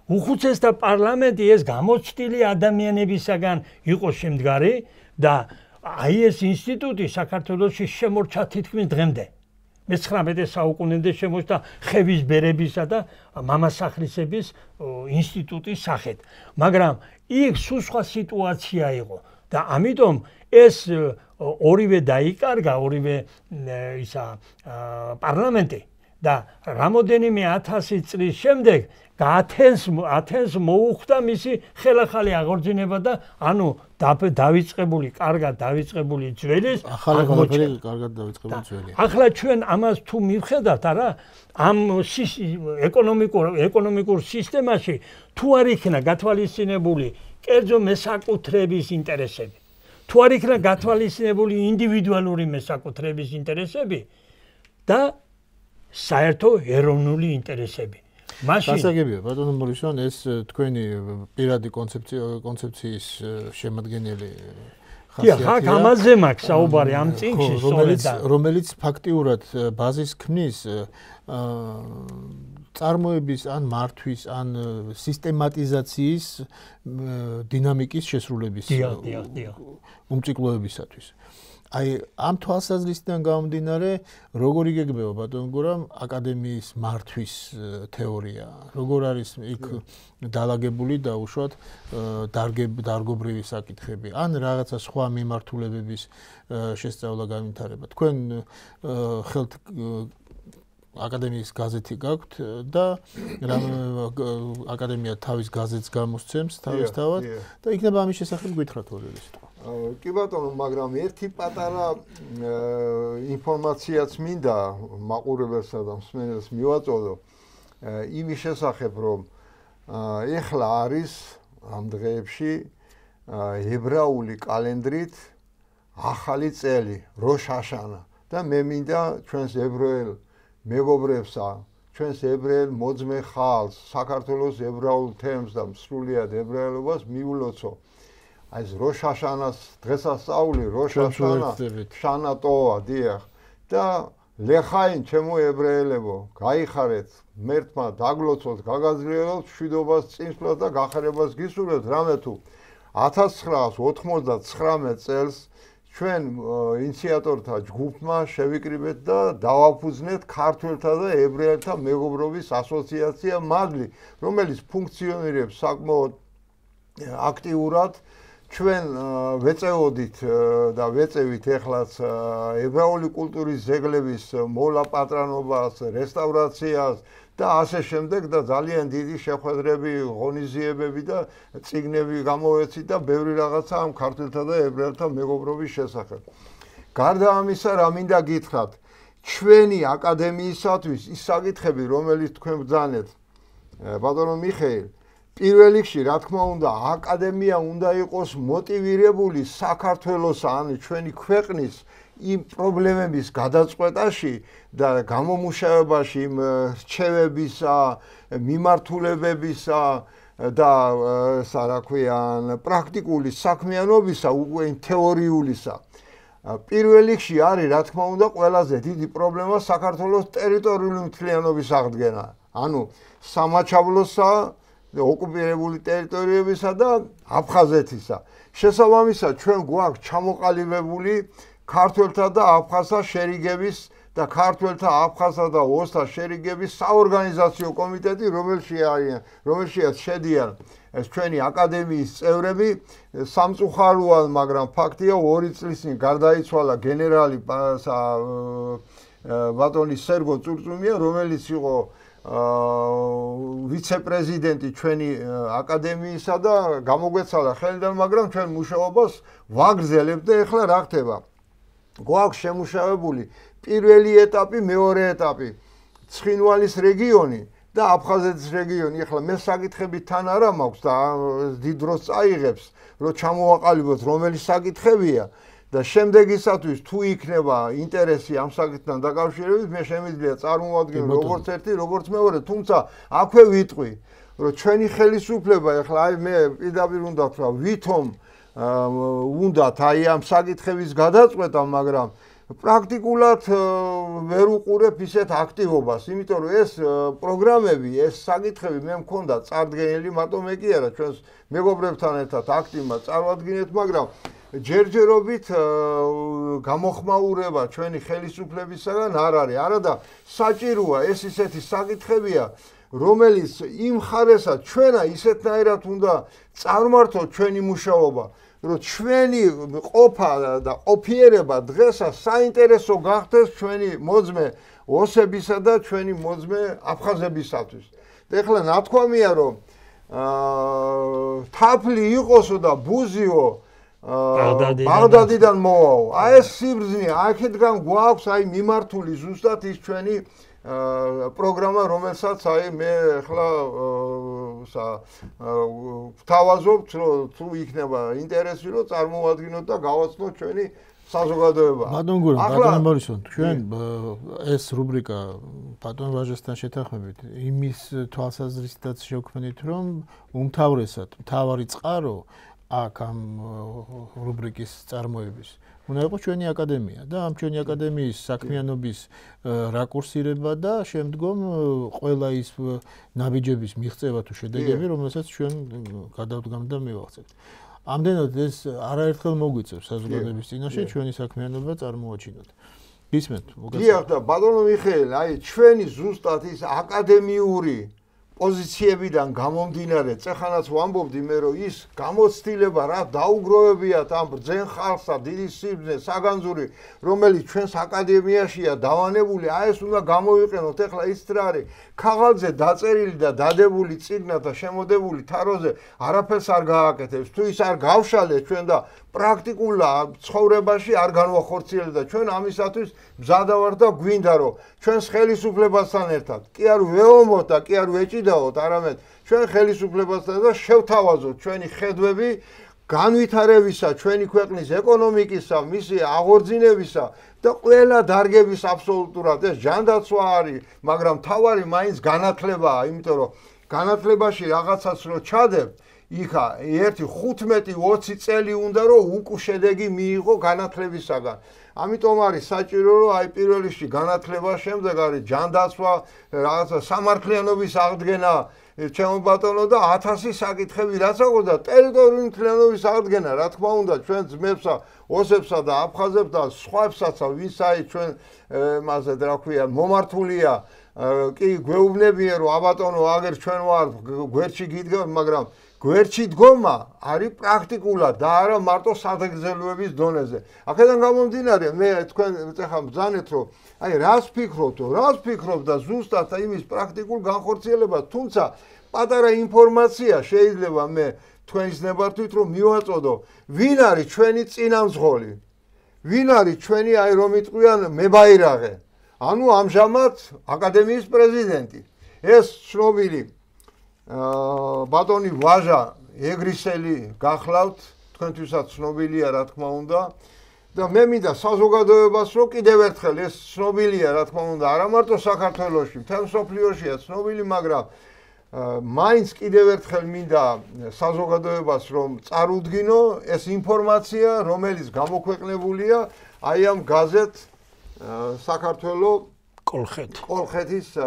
უხუცესთა პარლამენტი ეს გამოცდილი ადამიანებისაგან იყო შემდგარი და აი ეს ინსტიტუტი საქართველოში შემორჩა თითქმის დღემდე. მე-19 საუკუნემდე შემოჩნდა ხევის ბერებისა და მამასახლისების ინსტიტუტის სახით. მაგრამ იქ სულ სხვა სიტუაცია იყო და ამიტომ ეს ორივე დაიკარგა, ორივე პარლამენტი და რამოდენიმე 1000 წლის შემდეგ ათენს მოუხდა მისი ხელახალი აღორძინება და ანუ დავიწყებული, კარგად დავიწყებული ძველის ახალი ყველაფერი კარგად დავიწყებული ძველი. ახლა ჩვენ ამას თუ მივხედავთ, არა, ამ ეკონომიკურ სისტემაში თუ არ იქნა გათვალისწინებული კერძო მესაკუთრების ინტერესები, თუ არ იქნა გათვალისწინებული ინდივიდუალური მესაკუთრების ინტერესები და საერთო ეროვნული ინტერესები. გასაგებია ბატონო მორისონ, ეს თქვენი პირადი კონცეფციის შემადგენელი ხასიათია. ხა ამაზე მაქვს საუბარი ამ წიგნში, რომელიც ფაქტიურად ბაზის ქმნის წარმოების ან მართვის ან სისტემატიზაციის დინამიკის შესრულების უმწიკლოებისათვის. აი ამ თვალსაზრისიდან გამომდინარე, როგორ იგეგმება ბატონ გურამ აკადემიის მართვის თეორია, როგორ არის იქ დალაგებული და უშუალოდ დარგობრივი საკითხები, ან რაღაცა სხვა მიმართულებების შესწავლა განვითარება. თქვენ ხელთ აკადემიის გაზეთი გაქვთ და აკადემია თავის გაზეთს გამოსცემს თავისთავად და იქნება ამის შესახებ გითხრათ ორივე სიტყვა. კი ბატონო, მაგრამ ერთი პატარა ინფორმაციაც მინდა მაყურებელსა და მსმენელს მივაწოდო იმის შესახებ, რომ ეხლა არის ამ დღეებში ებრაული კალენდრით ახალი წელი, როშ ჰაშანა და მე მინდა ჩვენს ებრაელ მეგობრებსა ჩვენს ებრაელ მოძმე ხალხს, საქართველოს ებრაულ თემს და სრულიად ებრაელობას მიულოცო. აი ეს როშ ჰაშანას დღესასწაული, როშ ჰაშანა, შანატოა, დიახ. და ლეხაინ ჩემო ებრაელებო, გაიხარეთ, მერთმა დაგლოცოთ, გაგაზრიელოთ მშვიდობას, წინსვლას და გახარებას გისურვებთ, რამე თუ 1999 წელს ჩვენ ინიციატორთა ჯგუფმა შევიკრიბეთ და დავაფუძნეთ ქართველთა და ებრაელთა მეგობრობის ასოციაცია მადლი, რომელიც ფუნქციონირებს საკმაოდ აქტიურად. ჩვენ ვეწეოდით და ვეწევით ეხლაც ებრაული კულტურის ძეგლების მოლაპატრანობას, რესტავრაციას და ასე შემდეგ და ძალიან დიდი შეხვედრები, ღონისძიებები და წიგნები გამოვეცით და ბევრი რაღაცა ამ ქართველთა და ებრაელთა მეგობრობის შესახებ. გარდა ამისა, რა მინდა გითხრათ, ჩვენი აკადემიისათვის ის საკითხები, რომელიც თქვენ ბრძანეთ, ბატონო მიხეილ, პირველ რიგში, რა თქმა უნდა, აკადემია უნდა იყოს მოტივირებული საქართველოს, ანუ ჩვენი ქვეყნის იმ პრობლემების გადაწყვეტაში და გამომუშავებაში, იმ რჩევებისა, მიმართულებებისა და რა ქვია, პრაქტიკული საქმიანობისა, უკვე თეორიულისა. პირველ რიგში არის, რა თქმა უნდა, ყველაზე დიდი პრობლემა საქართველოს ტერიტორიული მთლიანობის აღდგენა. ანუ სამაჩაბლოსა ოკუპირებული ტერიტორიებისა და აფხაზეთისა. შესაბამისად, ჩვენ გვაქვს ჩამოყალიბებული ქართველთა და აფხაზთა შერიგების და ქართველთა, აფხაზთა და ოსთა შერიგების საორგანიზაციო კომიტეტი, რომელშიც შედიან ჩვენი აკადემიის წევრები, სამწუხაროა, მაგრამ ფაქტია, 2 წლის წინ გარდაიცვალა გენერალი ბატონი სერგო წურწუმია, რომელიც იყო ვიცე-პრეზიდენტი ჩვენი აკადემიისა და გამოგვეცალა ხელიდან, მაგრამ ჩვენ მუშაობას ვაგრძელებთ და ეხლა რა ხდება? გვაქვს შემუშავებული პირველი ეტაპი, მეორე ეტაპი, ცხინვალის რეგიონი და აფხაზეთის რეგიონი. ეხლა მე საკითხები თან არა მაქვს და დიდ დროს წაიღებს, რომ ჩამოვაყალიბოთ რომელი საკითხებია. და შემდეგისათვის თუ იქნება ინტერესი ამ საკითხთან დაკავშირებით, მე შემიძლია წარმოვადგინო როგორც ერთი, როგორც მეორე, თუმცა აქვე ვიტყვი, რომ ჩვენი ხელისუფლება ეხლა აი მე პირდაპირ უნდა ვთქვა, ვითომ უნდათ აი ამ საკითხების გადაწყვეტა, მაგრამ პრაქტიკულად ვერ უყურებ ისეთ აქტივობას, იმიტომ რომ ეს პროგრამები, ეს საკითხები მე მქონდა წარდგენილი, მარტო მე კი არა, ჩვენს მეგობრებთან ერთად აქტივმა წარვადგინეთ, მაგრამ ჯერჯერობით გამოხმაურება ჩვენი ხელისუფლებისაგან არ არის. არადა საჭიროა ეს ისეთი საკითხებია, რომელიც იმ ხარესაც ჩვენა ისეთნაირად უნდა წარმართოთ ჩვენი მუშაობა, რომ ჩვენი ყოფა და ყოფიერება დღესაც საინტერესო გახდეს ჩვენი მოძმე ოსებისა და ჩვენი მოძმე აფხაზებისათვის. ეხლა ნათქვამია, რომ თაფლი იყოსო და ბუზიო ბაღდადიდან მოვაო. აი ეს სიბრძნე, აქედგან გვაქვს აი მიმართული ზუსტად ის ჩვენი პროგრამა, რომელსაც აი მე ახლა ვთავაზობთ, რომ თუ იქნება ინტერესი, რომ წარმოვადგინოთ და გავაცნოთ ჩვენი საზოგადოება. ბატონ გურამ, ბატონ ბორისოვ, ჩვენ ეს რუბრიკა ბატონ ვაჟესთან შეთანხმებით იმის თვალსაზრისითაც შევქმნით, რომ უმთავრესად მთავარი წყარო აქ ამ რუბრიკის წარმოების უნდა იყოს ჩვენი აკადემია და ამ ჩვენი აკადემიის საქმიანობის რაკურსირება და შემდგომ ყველა ის ნაბიჯების მიღწევა თუ შედეგები, რომელსაც ჩვენ გადავდგამთ და მივაღწევთ. ამდენად ეს არაერთხელ მოგვიწევს საზოგადოების წინაშე ჩვენი საქმიანობა წარმოაჩინოთ. გისმენთ, მოგესალმებით. დიახ და ბატონო მიხეილ, აი ჩვენი ზუსტად ის აკადემიური პოზიციებიდან გამომდინარე, წეხანაც ვამბობდი მე, რომ ის გამოცდილება რა დაუგროვებიათ ამ ბრძენ ხალხსა, დიდი სიბრძნე, საგანძური, რომელიც ჩვენს აკადემიაშია დავანებული, აი ეს უნდა გამოვიყენოთ. ეხლა ის რა არის, ქაღალდზე დაწერილი და დადებული წიგნად და შემოდებული თაროზე არაფერს არ გააკეთებს. თუ ის არ გავშალეთ ჩვენ და პრაქტიკულ ცხოვრებაში არ განვახორციელებთ და ჩვენ ამისათვის მზადა ვართ და გვინდა რომ ჩვენს ხელისუფლებასთან ერთად კი არ ვეომოთ და კი არ ვეჭიდაოთ, არამედ ჩვენ ხელისუფლებასთან და შევთავაზოთ ჩვენი ხედვები განვითარებისა, ჩვენი ქვეყნის ეკონომიკისა, მისი აღორძინებისა და ყველა დარგების აბსოლუტურად ეს ჯანდაცვა არის, მაგრამ თავარი მაინც განათლებაა, იმიტომ რომ განათლებაში რაღაცას რო ჩადებ, იქა 1-15-20 წელი უნდა რომ უკუ შედეგი მიიღო განათლებისაგან. ამიტომ არის საჭირო რომ აი პირველ რიგში განათლება, შემდეგ არის ჯანდაცვა, რაღაცა სამართლიანობის აღდგენა, ჩემო ბატონო და 1000 საკითხები რაც აქვს და ტერიტორიული მთლიანობის აღდგენა, რა თქმა უნდა, ჩვენ ძმებსა, ოსებსა და აფხაზებს და სხვაებსაც, ვინც აი ჩვენ მასე რა ქვია, მომართულია, კი გვეუბნებიან რომ აბატონო აგერ ჩვენ ვარ გვერდში გიდგა, მაგრამ გვერდში დგომა არის პრაქტიკულად და არა მარტო საგრძელოების დონეზე. აქედან გამომდინარე, მე თქვენ ეხლა ბრძანეთ რომ აი რას ფიქრობ და ზუსტად იმის პრაქტიკულ განხორციელებას, თუმცა პატარა ინფორმაცია შეიძლება მე თქვენის ნებართვით რომ მივაწოდო, ვინ არის ჩვენი წინამძღოლი, ვინ არის ჩვენი აი რომ იტყვიან მებაირაღე, ანუ ამჟამად აკადემიის პრეზიდენტი, ეს ცნობილი ბატონი ვაჟა ეგრისელი გახლავთ, თქვენთვისაც ცნობილია რა თქმა უნდა და მე მინდა საზოგადოებას რომ კიდევ ერთხელ ეს ცნობილია რა თქმა უნდა, არა მარტო საქართველოში, მთელ მსოფლიოშია ცნობილი, მაგრამ მაინც კიდევ ერთხელ მინდა საზოგადოებას რომ წარუდგინო ეს ინფორმაცია, რომელიც გამოქვეყნებულია აი ამ გაზეთ საქართველოს კოლხეთის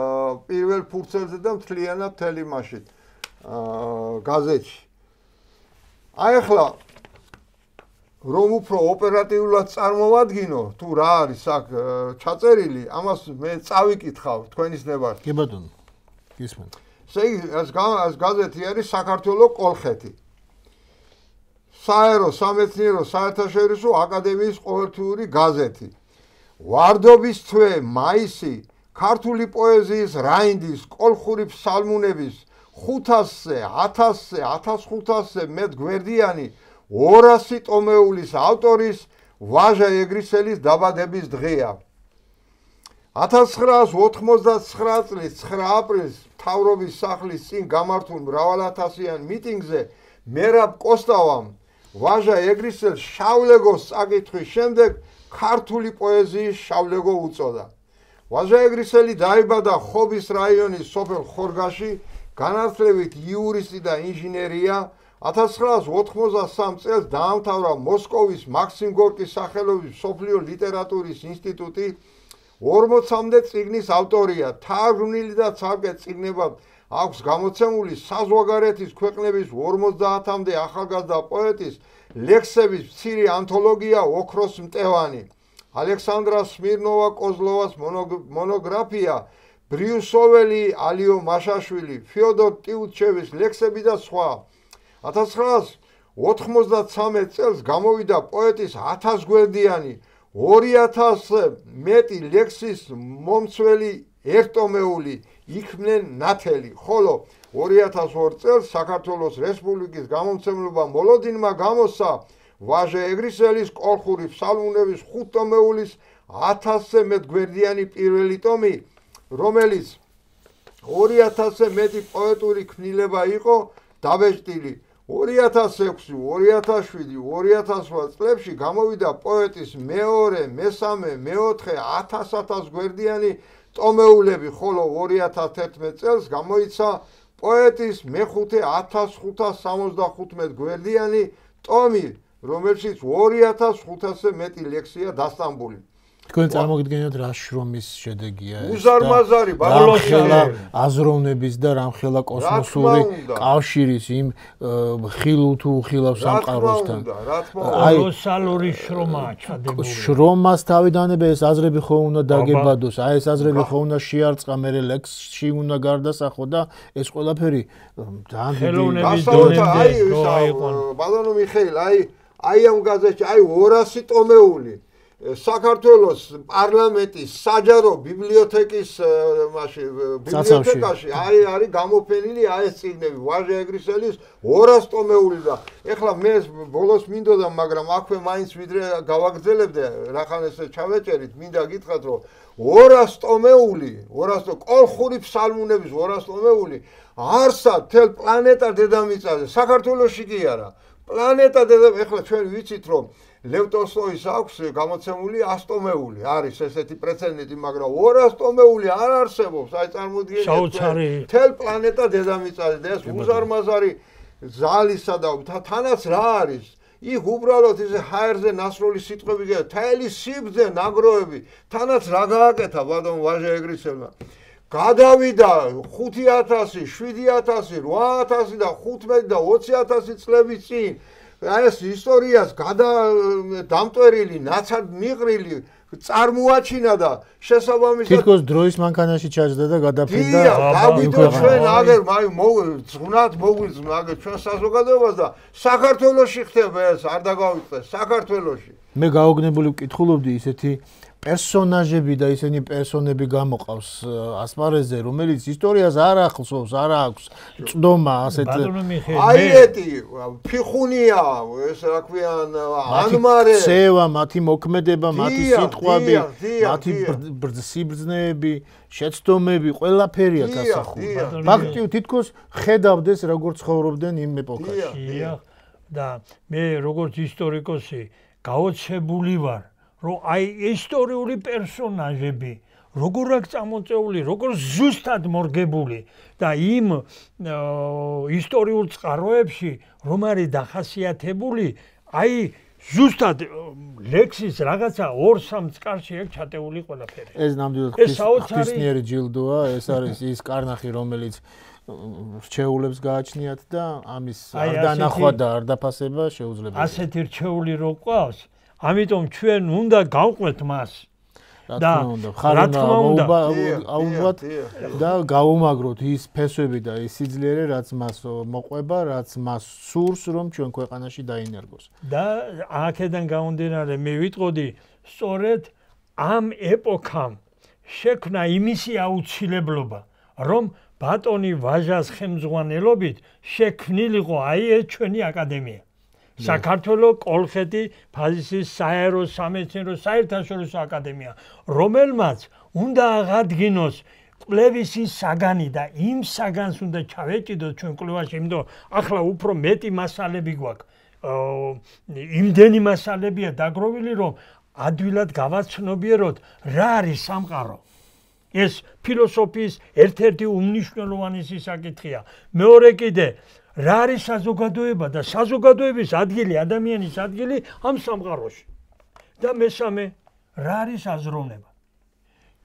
პირველ ფურცელზე და მთლიანად მთელი მასშტაბით გაზეთში. აი ახლა რომ უფრო ოპერატიულად წარმოვადგინო, თუ რა არის აქ ჩაწერილი, ამას მე წავიკითხავ თქვენის ნებართვით. კი ბატონო, გისმენთ. ეს გაზეთი არის საქართველოს კოლხეთი. საერო სამეცნიერო საერთაშორისო აკადემიის ყოველთვიური გაზეთი. ვარდობის თვე, მაისი, ქართული პოეზიის რაინდის, კოლხური ფსალმუნების 500-ზე, 1000-ზე, 1500-ზე მეტ გვერდიანი 200 ტომეულის ავტორის ვაჟა ეგრისელის დაბადების დღეა. 1989 წლის 9 აპრილს მთავრობის სახლის წინ გამართულ მრავალათასიან მიტინგზე მერაბ კოსტავამ ვაჟა ეგრისელს შავლეგოს წაკითხვის შემდეგ ქართული პოეზიის შავლეგო უწოდა. ვაჟა ეგრისელი დაიბადა ხობის რაიონის სოფელ ხორგაში, განათლებით იურისტი და ინჟინერია. 1993 წელს დაამთავრა მოსკოვის მაქსიმ გორკის სახელობის მსოფლიო ლიტერატურის ინსტიტუტი. 40-მდე წიგნის ავტორია, თარგმნილი და ცალკე წიგნებად აქვს გამოცემული საზღვარგარეთის ქვეყნების 50-მდე ახალგაზრდა პოეტის ლექსების მცირე ანთოლოგია ოქროს მტევანი, ალექსანდრა სმირნოვა-კოზლოვას მონოგრაფია, ბრიუსოველი, ალიო მაშაშვილი, ფიოდორ ტიუტჩევის ლექსები და სხვა. 1993 წელს გამოვიდა პოეტის 1000 გვერდიანი 2000-ზე მეტი ლექსის მომცველი ერთომეული იქმნენ ნათელი, ხოლო 2002 წელს საქართველოს რესპუბლიკის გამომცემლობა მოლოდინმა გამოსცა ვაჟა ეგრისელის კოლხური ფსალმუნების 5 ტომეულის 1000-ზე მეტ გვერდიანი პირველი ტომი, რომელიც 2000-ზე მეტი პოეტური ქმნილება იყო დაბეჭდილი. 2006, 2007, 2008 წლებში გამოვიდა პოეტის მეორე, მესამე, მეოთხე 1000 გვერდიანი ტომეულები, ხოლო 2011 წელს გამოიცა პოეტის მეხუთე 1575 გვერდიანი ტომი, რომელშიც 2500-ზე მეტი ლექსია დასტამბული. თქვენ წარმოგიდგენთ რა შრომის შედეგია ეს? უზარმაზარი ბოლოსხელა აზროვნების და რამხელა კოსმოსური კავშირის იმ ხილულ თუ ხილავ სამყაროსთან. კოლოსალური შრომაა ჩადებული. შრომას თავიდანვე ეს აზრები ხო უნდა დაგებადოს, აი ეს აზრები ხო უნდა შეარწყა, მე ლექსში უნდა გარდასახო და ეს ყველაფერი ძალიან ხელოვნების დონემდე ბატონო მიხეილ, აი ამ გაზეთში აი 200 ტომეული საქართველოს პარლამენტის საჯარო ბიბლიოთეკის ბიბლიოთეკაში არის გამოფენილი აი ეს წიგნები ვაჟა ეგრისელის 200 ტომეული და ეხლა მე ბოლოს მინდოდა, მაგრამ აქვე მაინც ვიდრე გავაგრძელებდე რახან ესე ჩავეჭერით, მინდა გითხრათ რომ 200 ტომეული, 200 კოლხური ფსალმუნების 200 ტომეული არსად თელ პლანეტა დედამიწაზე, საქართველოში კი არა, პლანეტა დედამიწა, ეხლა ჩვენ ვიცით რომ ლევ ტოლსტოის აქვს გამოცემული 100 ტომეული, არის ესეთი პრეცედენტი, მაგრამ 200 ტომეული არ არსებობს, აი წარმოგიდგენთ, თელ პლანეტა დედამიწაზე და ეს უზარმაზარი ზალისა და თანაც რა არის? იქ უბრალოდ ისე ჰაერზე ნასროლი სიტყვები გია, თელი სიბძე ნაგროვები, თანაც რა გააკეთა ბატონ ვაჟა ეგრისელმა. გადავიდა 5000, 7000, 8000 და 15 და 20000 წლების წინ. აი ეს ისტორიას დამტვერილი, ნაცად მიყრილი წარმოაჩინა და შესაბამისად თითქოს დროის მანქანაში ჩაჯდა და გადაფრინდა. დავიდო ჩვენ აგერ ზღვნად მოგვიძნა აგერ ჩვენ საზოგადოებას და საქართველოში ხდება ეს არ დაგავიწყდეს საქართველოში. მე გაოგნებული ვკითხულობდი ისეთი პერსონაჟები და ისინი პერსონები გამოყავს ასპარეზზე, რომელიც ისტორიას არ ახსოვს, არ აქვს წდომა ასეთ აიეტი, ფიხუნია, ეს რა ქვიან, ანმარე, ცევა, მათი მოქმედება, მათი სიტყვები, მათი სიბრძნეები, შეცდომები, ყველაფერია გასახული. ფაქტია, თითქოს ხედავდეს როგორ ცხოვრობდნენ იმ ეპოქაში. და მე როგორც ისტორიკოსი გაოცებული ვარ რომ აი ისტორიული პერსონაჟები როგორ აქ წამოწეული, როგორ ზუსტად მორგებული და იმ ისტორიულ წყაროებში რომ არის დახასიათებული, აი ზუსტად ლექსის რაღაცა 2-3 წყარში აქ ჩატეული ყველაფერი. ეს ნამდვილად ღვთისმიერი ჯილდოა, ეს არის ის კარნახი, რომელიც რჩეულებს გააჩნიათ და ამის არ დანახვა და არ დაფასება შეუძლებელია. ასეთი რჩეული რო ყავს, ამიტომ ჩვენ უნდა გავყვეთ მას. და რა თქმა უნდა, აუღოთ და გაუმაგროთ ის ფესვები და ის სიძლიერე, რაც მას მოყვება, რაც მას სურს, რომ ჩვენ ქვეყანაში დაინერგოს. და აქედან გამომდინარე, მე ვიტყოდი, სწორედ ამ ეპოქამ შექმნა იმისი აუცილებლობა, რომ ბატონი ვაჟას ხელმძღვანელობით შექმნილიყო აი ეს ჩვენი აკადემია. საქართველოს კოლხეთი ფაზისის საერო სამეცნიერო საერთაშორისო აკადემია, რომელმაც უნდა აღადგინოს კვლევის ის საგანი და იმ საგანს უნდა ჩავეჭიდოთ ჩვენ კვლევაში, იმიტომ ახლა უფრო მეტი მასალები გვაქვს. იმდენი მასალებია დაგროვილი, რომ ადვილად გავაცნობიეროთ რა არის სამყარო. ეს ფილოსოფიის ერთ-ერთი უმნიშვნელოვანესი საკითხია. მეორე კიდე რა არის საზოგადოება და საზოგადოების ადგილი, ადამიანის ადგილი ამ სამყაროში. და მესამე, რა არის აზროვნება.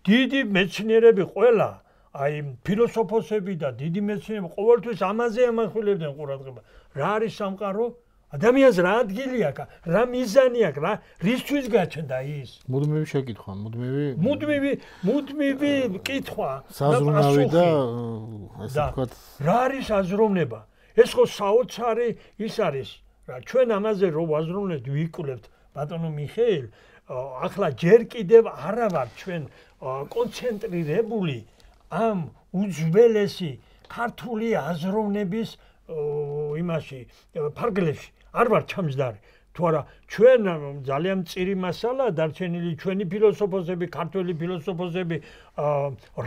დიდი მეცნიერები ყველა, აი ფილოსოფოსები და დიდი მეცნიერები ყოველთვის ამაზე ამახვილებდნენ ყურადღება. რა არის სამყარო? ადამიანს რა ადგილი აქვს, რა მიზანი აქვს, რა რისთვის გაჩნდა ის? მუდმივი შეკითხვა, მუდმივი კითხვა. საზრუნავი და ასე ვთქვათ, რა არის აზროვნება? ეს ხო საოცარი ის არის, რა ჩვენ ამაზე რო ვაზროვნებთ, ვიკვლევთ, ბატონო მიხეილ, ახლა ჯერ კიდევ არა ვარ ჩვენ კონცენტრირებული ამ უძველესი ქართული აზროვნების იმაში ფარგლებში. არ ვარ ჩამჯდარი. თუ არა, ჩვენ ძალიან მწირი მასალაა დარჩენილი, ჩვენი ფილოსოფოსები, ქართველი ფილოსოფოსები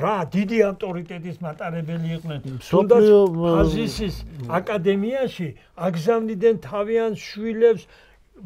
რა დიდი ავტორიტეტის მატარებელი იყვნენ. თუნდაც ფაზისის აკადემიაში აგზავნიდნენ თავიანთ შვილებს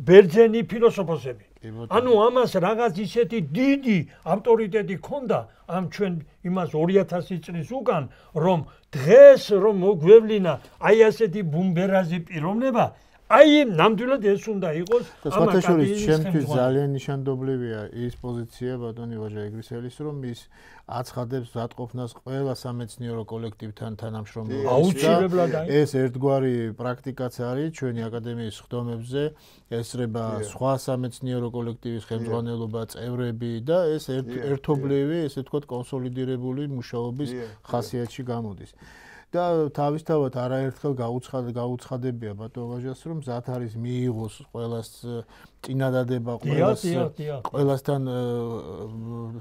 ბერძენი ფილოსოფოსები. ანუ ამას რაღაც ისეთი დიდი ავტორიტეტი ჰქონდა ამ ჩვენ იმას 2000 წლის უკან, რომ დღეს რომ მოგვევლინა აი ასეთი ბუმბერაზი პიროვნება, აი ნამდვილად ეს უნდა იყოს ამ აკადემიის შემთხვევით ძალიან ნიშანდობლივია ის პოზიცია ბატონი ვაჟა ეგრისელის, რომ ის აცხადებს ზატყოფნას ყველა სამეცნიერო კოლექტივთან თანამშრომლობაში. აუცილებლად ეს ერთგვარი პრაქტიკაც არის ჩვენი აკადემიის ხდომებზე, ესწრება სხვა სამეცნიერო კოლექტივის ხელმძღვანელობა, წევრები და ეს ერთობლივი, ესე ვთქვათ, კონსოლიდირებული მუშაობის ხასიათში გამოდის. და თავისთავად არაერთხელ გაუცხადებია ბატონ ვაჟას, რომ მზად არის მიიღოს ყველას წინადადება, ყველასთან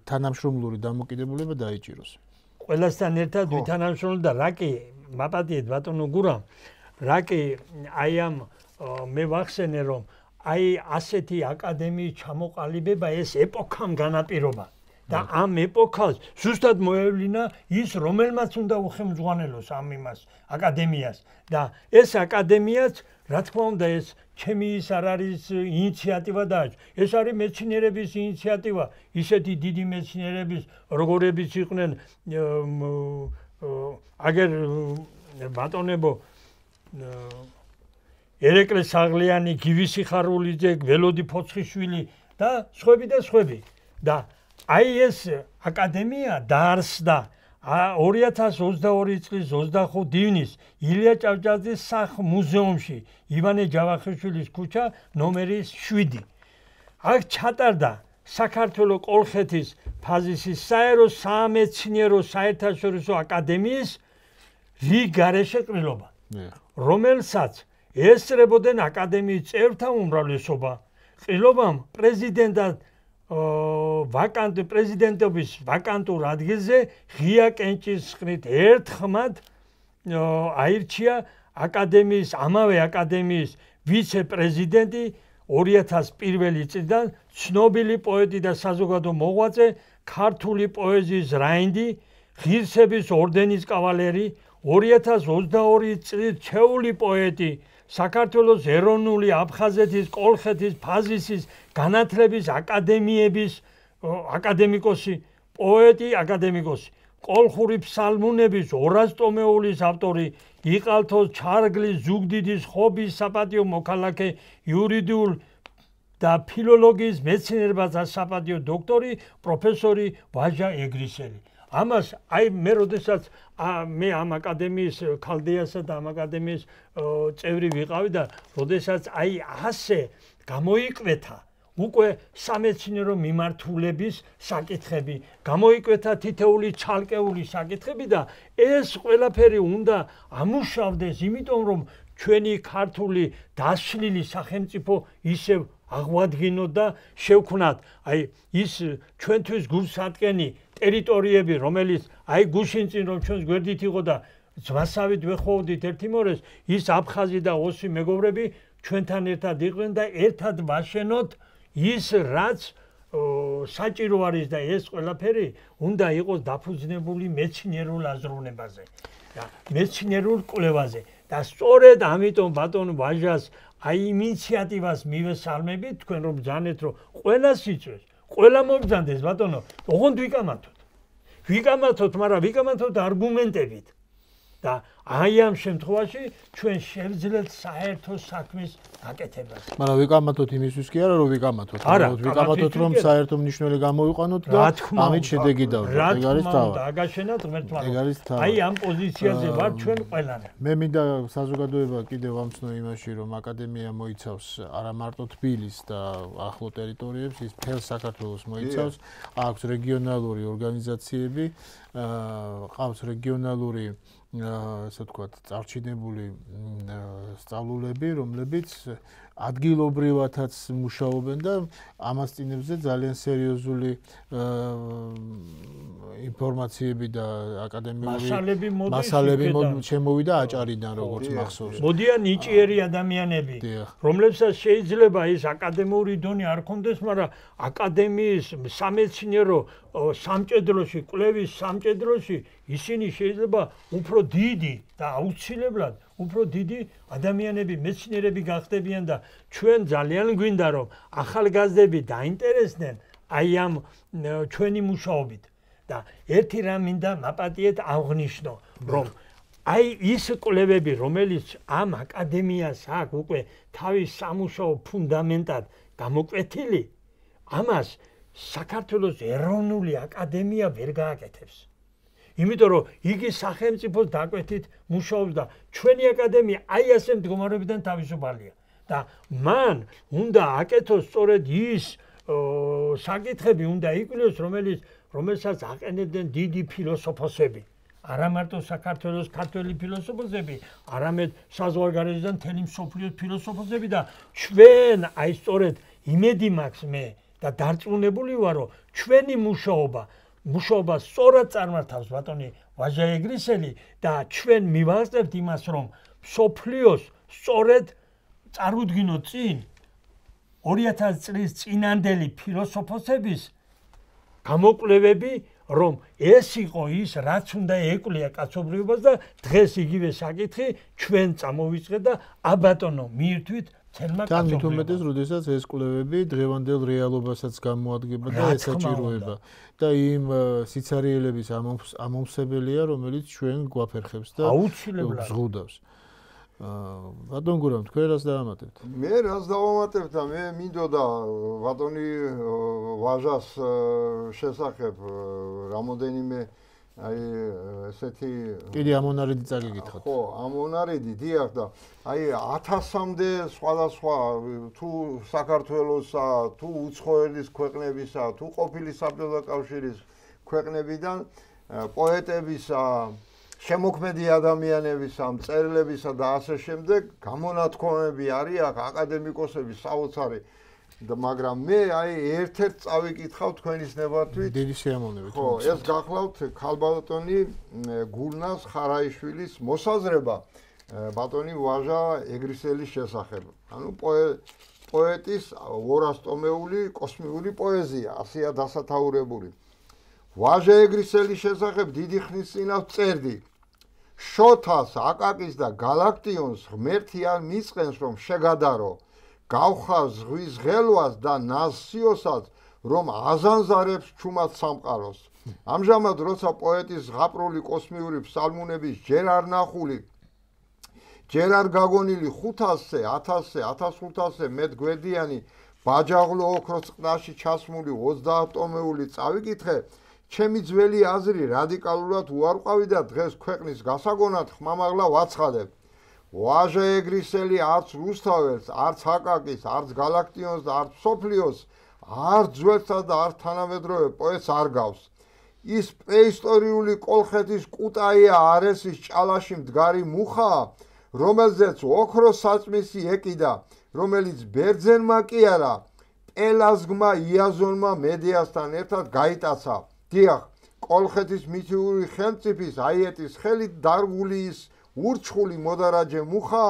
თანამშრომლური დამოკიდებულება დაიჭიროს. ყველასთან ერთად ვითანამშრომლოთ და რა კი მაპატიეთ ბატონო გურამ, რა კი აი ამ მე ვახსენე, რომ აი ასეთი აკადემიის ჩამოყალიბება ეს ეპოქამ განაპირობა. და ამ ეპოქას ზუსტად მოევლინა ის რომელმაც უნდა უხელმძღვანელოს ამ იმას აკადემიას და ეს აკადემიაც რა თქმა უნდა ეს ჩემი ის არ არის ინიციატივა და ეს არის მეცნიერების ინიციატივა ისეთი დიდი მეცნიერების როგორებიც იყვნენ აგერ ბატონებო ერეკლე საღლიანი, გივისი ხარულიძე, ველოდი ფოცხიშვილი და სხვები და აი ეს აკადემია დაარსდა 2022 წლის 25 ივნის ილია ჭავჭავაძის სახლ-მუზეუმში ივანე ჯავახიშვილის ქუჩა ნომერი 7. აქ ჩატარდა საქართველოს კოლხეთის ფაზისის საერო სამეცნიერო საერთაშორისო აკადემიის რიგ გარეშე ყრილობა, რომელსაც ესწრებოდნენ აკადემიის წევრთა უმრავლესობა. ყრილობამ პრეზიდენტად პრეზიდენტობის ვაკანტურ ადგილზე ღია კენჭისყრით ერთხმად აირჩია აკადემიის ამავე აკადემიის ვიცე-პრეზიდენტი 2001 წლიდან ცნობილი პოეტი და საზოგადო მოღვაწე, ქართული პოეზიის რაინდი, ღირსების ორდენის კავალერი, 2022 წლის ჩეული პოეტი, საქართველოს ეროვნული აფხაზეთის, კოლხეთის, ფაზისის განათლების აკადემიების აკადემიკოსი, პოეტი, აკადემიკოსი, კოლხური ფსალმუნების 200 ტომეულის ავტორი, იყალთოს ჩარგლის ზუგდიდის ხობის საპატიო მოქალაქე, იურიდიულ და ფილოლოგიის მეცნიერებათა საპატიო დოქტორი, პროფესორი ვაჟა ეგრისელი. ამას აი მე როდესაც მე ამ აკადემიის ქალდეასა და ამ აკადემიის წევრი ვიყავი და როდესაც აი ასე გამოიკვეთა უკვე სამეცნიერო მიმართულების საკითხები, გამოიკვეთა თითეული ცალკეული საკითხები და ეს ყველაფერი უნდა ამუშავდეს, იმიტომ რომ ჩვენი ქართული დასვლილი სახელმწიფო ისევ აღვადგინოთ და შევქმნათ აი ის ჩვენთვის გულსატკენი ტერიტორიები, რომელიც აი გუშინ წინ რომ ჩვენს გვერდით იყო და ძვასავით ვეხოვდით ერთიმორეს, ის აფხაზი და ოსი მეგობრები ჩვენთან ერთად იყვნენ და ერთად ვაშენოთ ის რაც საჭირო არის და ეს ყველაფერი უნდა იყოს დაფუძნებული მეცნიერულ აზროვნებაზე და მეცნიერულ კვლევაზე და სწორედ ამიტომ ბატონ ვაჟას აი ინიციატივას მივესალმებით თქვენ რომ ბრძანეთ რომ ყველა სიწვეს ყველა მობრძანდეს ბატონო, ოღონდ ვიკამათოთ, მაგრამ ვიკამათოთ არგუმენტებით და აი ამ შემთხვევაში ჩვენ შევძლებთ საერთო საქმის გაკეთებას. მაგრამ ვიკამათოთ იმისთვის კი არა, რომ ვიკამათოთ, ვიკამათოთ რომ საერთო მნიშვნელობა გამოვიყვანოთ და ამით შედეგი დავდგეთ. ეგ არის თავი. დაგაშენათ ღმერთმა. აი ამ პოზიციაზე ვარ ჩვენ ყველანი. მე მინდა საზოგადოება კიდევ ამცნო იმაში, რომ აკადემია მოიცავს არა მარტო თბილის და ახლო ტერიტორიებს, ის მთელ საქართველოს მოიცავს, აქვს რეგიონალური ორგანიზაციები, ყავს რეგიონალური ასე ვთქვათ, წარჩინებული სწავლულები, რომლებიც ადგილობრივათაც მუშაობენ და ამასწინებზე ძალიან სერიოზული ინფორმაციები და აკადემიური მასალები შემოვიდა აჭარიდან, როგორც მახსოვს. მოდიან ნიჭიერი ადამიანები, რომლებსაც შეიძლება ის აკადემიური დონე არ ქონდეს, მაგრამ აკადემიის სამეცნიერო სამჭედროში, კვლევის სამჭედროში ისინი შეიძლება უფრო დიდი და აუცილებლად უფრო დიდი ადამიანები, მეცნიერები გახდებიან და ჩვენ ძალიან გვინდა რომ ახალგაზრდები დაინტერესდნენ აი ამ ჩვენი მუშაობით და ერთი რამ მინდა მაპატიეთ აღნიშნო რომ აი ის კვლევები რომელიც ამ აკადემიას აქვს უკვე თავის სამუშაო ფუნდამენტად გამოკვეთილი ამას საქართველოს ეროვნული აკადემია ვერ გააკეთებს. იმიტომ რომ იგი სახელმწიფოს დაკვეთით მუშაობს და ჩვენი აკადემია აი ასე მდგომარეობიდან თავისუფალია და მან უნდა აკეთოს სწორედ ის საკითხები უნდა იკვლევოს რომელსაც აყენებდნენ დიდი ფილოსოფოსები არა მარტო საქართველოს ქართველი ფილოსოფოსები არამედ საზღვარგარეთიდან მთელი მსოფლიოს ფილოსოფოსები და ჩვენ აი სწორედ იმედი მაქვს მე და დარწმუნებული ვარ რომ ჩვენი მუშაობა სწორად წარმართავს ბატონი ვაჟა ეგრისელი და ჩვენ მივაღწევთ იმას რომ მსოფლიოს სწორედ წარუდგინოთ წინ 2000 წლის წინანდელი ფილოსოფოსების გამოკვლევები, რომ ეს იყო ის, რაც უნდა ეკვლია კაცობრიობას და დღეს იგივე საკითხი ჩვენ წამოვიწყეთ და აბატონო მიირთვით ცელმა კაცობრიობას. თან მით უმეტეს, როდესაც ეს კვლევები დღევანდელ რეალობასაც გამოადგება და ესაჭიროება და იმ სიცარიელების ამომსებელია, რომელიც ჩვენ გვაფერხებს და აუცილებლად ზღუდავს. ბატონ გურამ, თქვენ რას დაამატებთ? მე რას დავამატებ და მე მინდოდა ბატონი ვაჟას შესახებ რამოდენიმე აი ესეთი კიდე ამონარიდი წაგიკითხოთ. ხო, ამონარიდი დიახ და აი 1000-მდე სხვადასხვა თუ საქართველოსა, თუ უცხოეთის ქვეყნებისა, თუ ყოფილი საბჭოთა კავშირის ქვეყნებიდან პოეტებისა შემოქმედი ადამიანებისა, მწერლებისა და ასე შემდეგ გამონათქვამები არის აქ აკადემიკოსების საოცარი და მაგრამ მე აი ერთ-ერთ წავიკითხავ თქვენის ნებართვით დიდი სიამოვნებით. ხო, ეს გახლავთ ქალბატონი გულნას ხარაიშვილის მოსაზრება ბატონი ვაჟა ეგრისელის შესახებ. ანუ პოეტის 200 ტომეული კოსმიური პოეზია, ასეა დასათაურებული. ვაჟა ეგრისელის შესახებ დიდი ხნის წინათ წერდი. შოთას, აკაკის და გალაქტიონს ღმერთი არ მისყენს რომ შეგადარო. გავხარ ზღვის ღელვას და ნასიოსაც რომ აზანზარებს ჩუმად სამყაროს. ამჟამად როცა პოეტის ზღაპრული კოსმიური ფსალმუნების ჯერ არ ნახული, ჯერ არ გაგონილი 500-ზე, 1000-ზე, 1500-ზე მეტ გვერდიანი ბაჯაღლო ოქროს წყნარში ჩასმული 30 ტომეული წავიკითხე, ჩემი ძველი აზრი რადიკალურად უარყვავი და დღეს ქვეყნის გასაგონად ხმამაღლა ვაცხადებ. ვაჟა ეგრისელი არც რუსთაველს, არც აკაკის, არც გალაქტიონს და არც სოფლიოს, არც ძველსა და არც თანამედროვე პოეტს არ გავს. ის პრეისტორიული კოლხეთის კუტაია არესის ჭალაში მდგარი მუხაა, რომელზეც ოქროს საწმისი ეკიდა, რომელიც ბერძენმა კი არა, პელაზგმა იაზონმა მედეასთან ერთად გაიტაცა. დიახ, კოლხეთის მითიური ხელმწიფის აიეტის ხელით დარგული ის ურჩხული მოდარაჯე მუხა,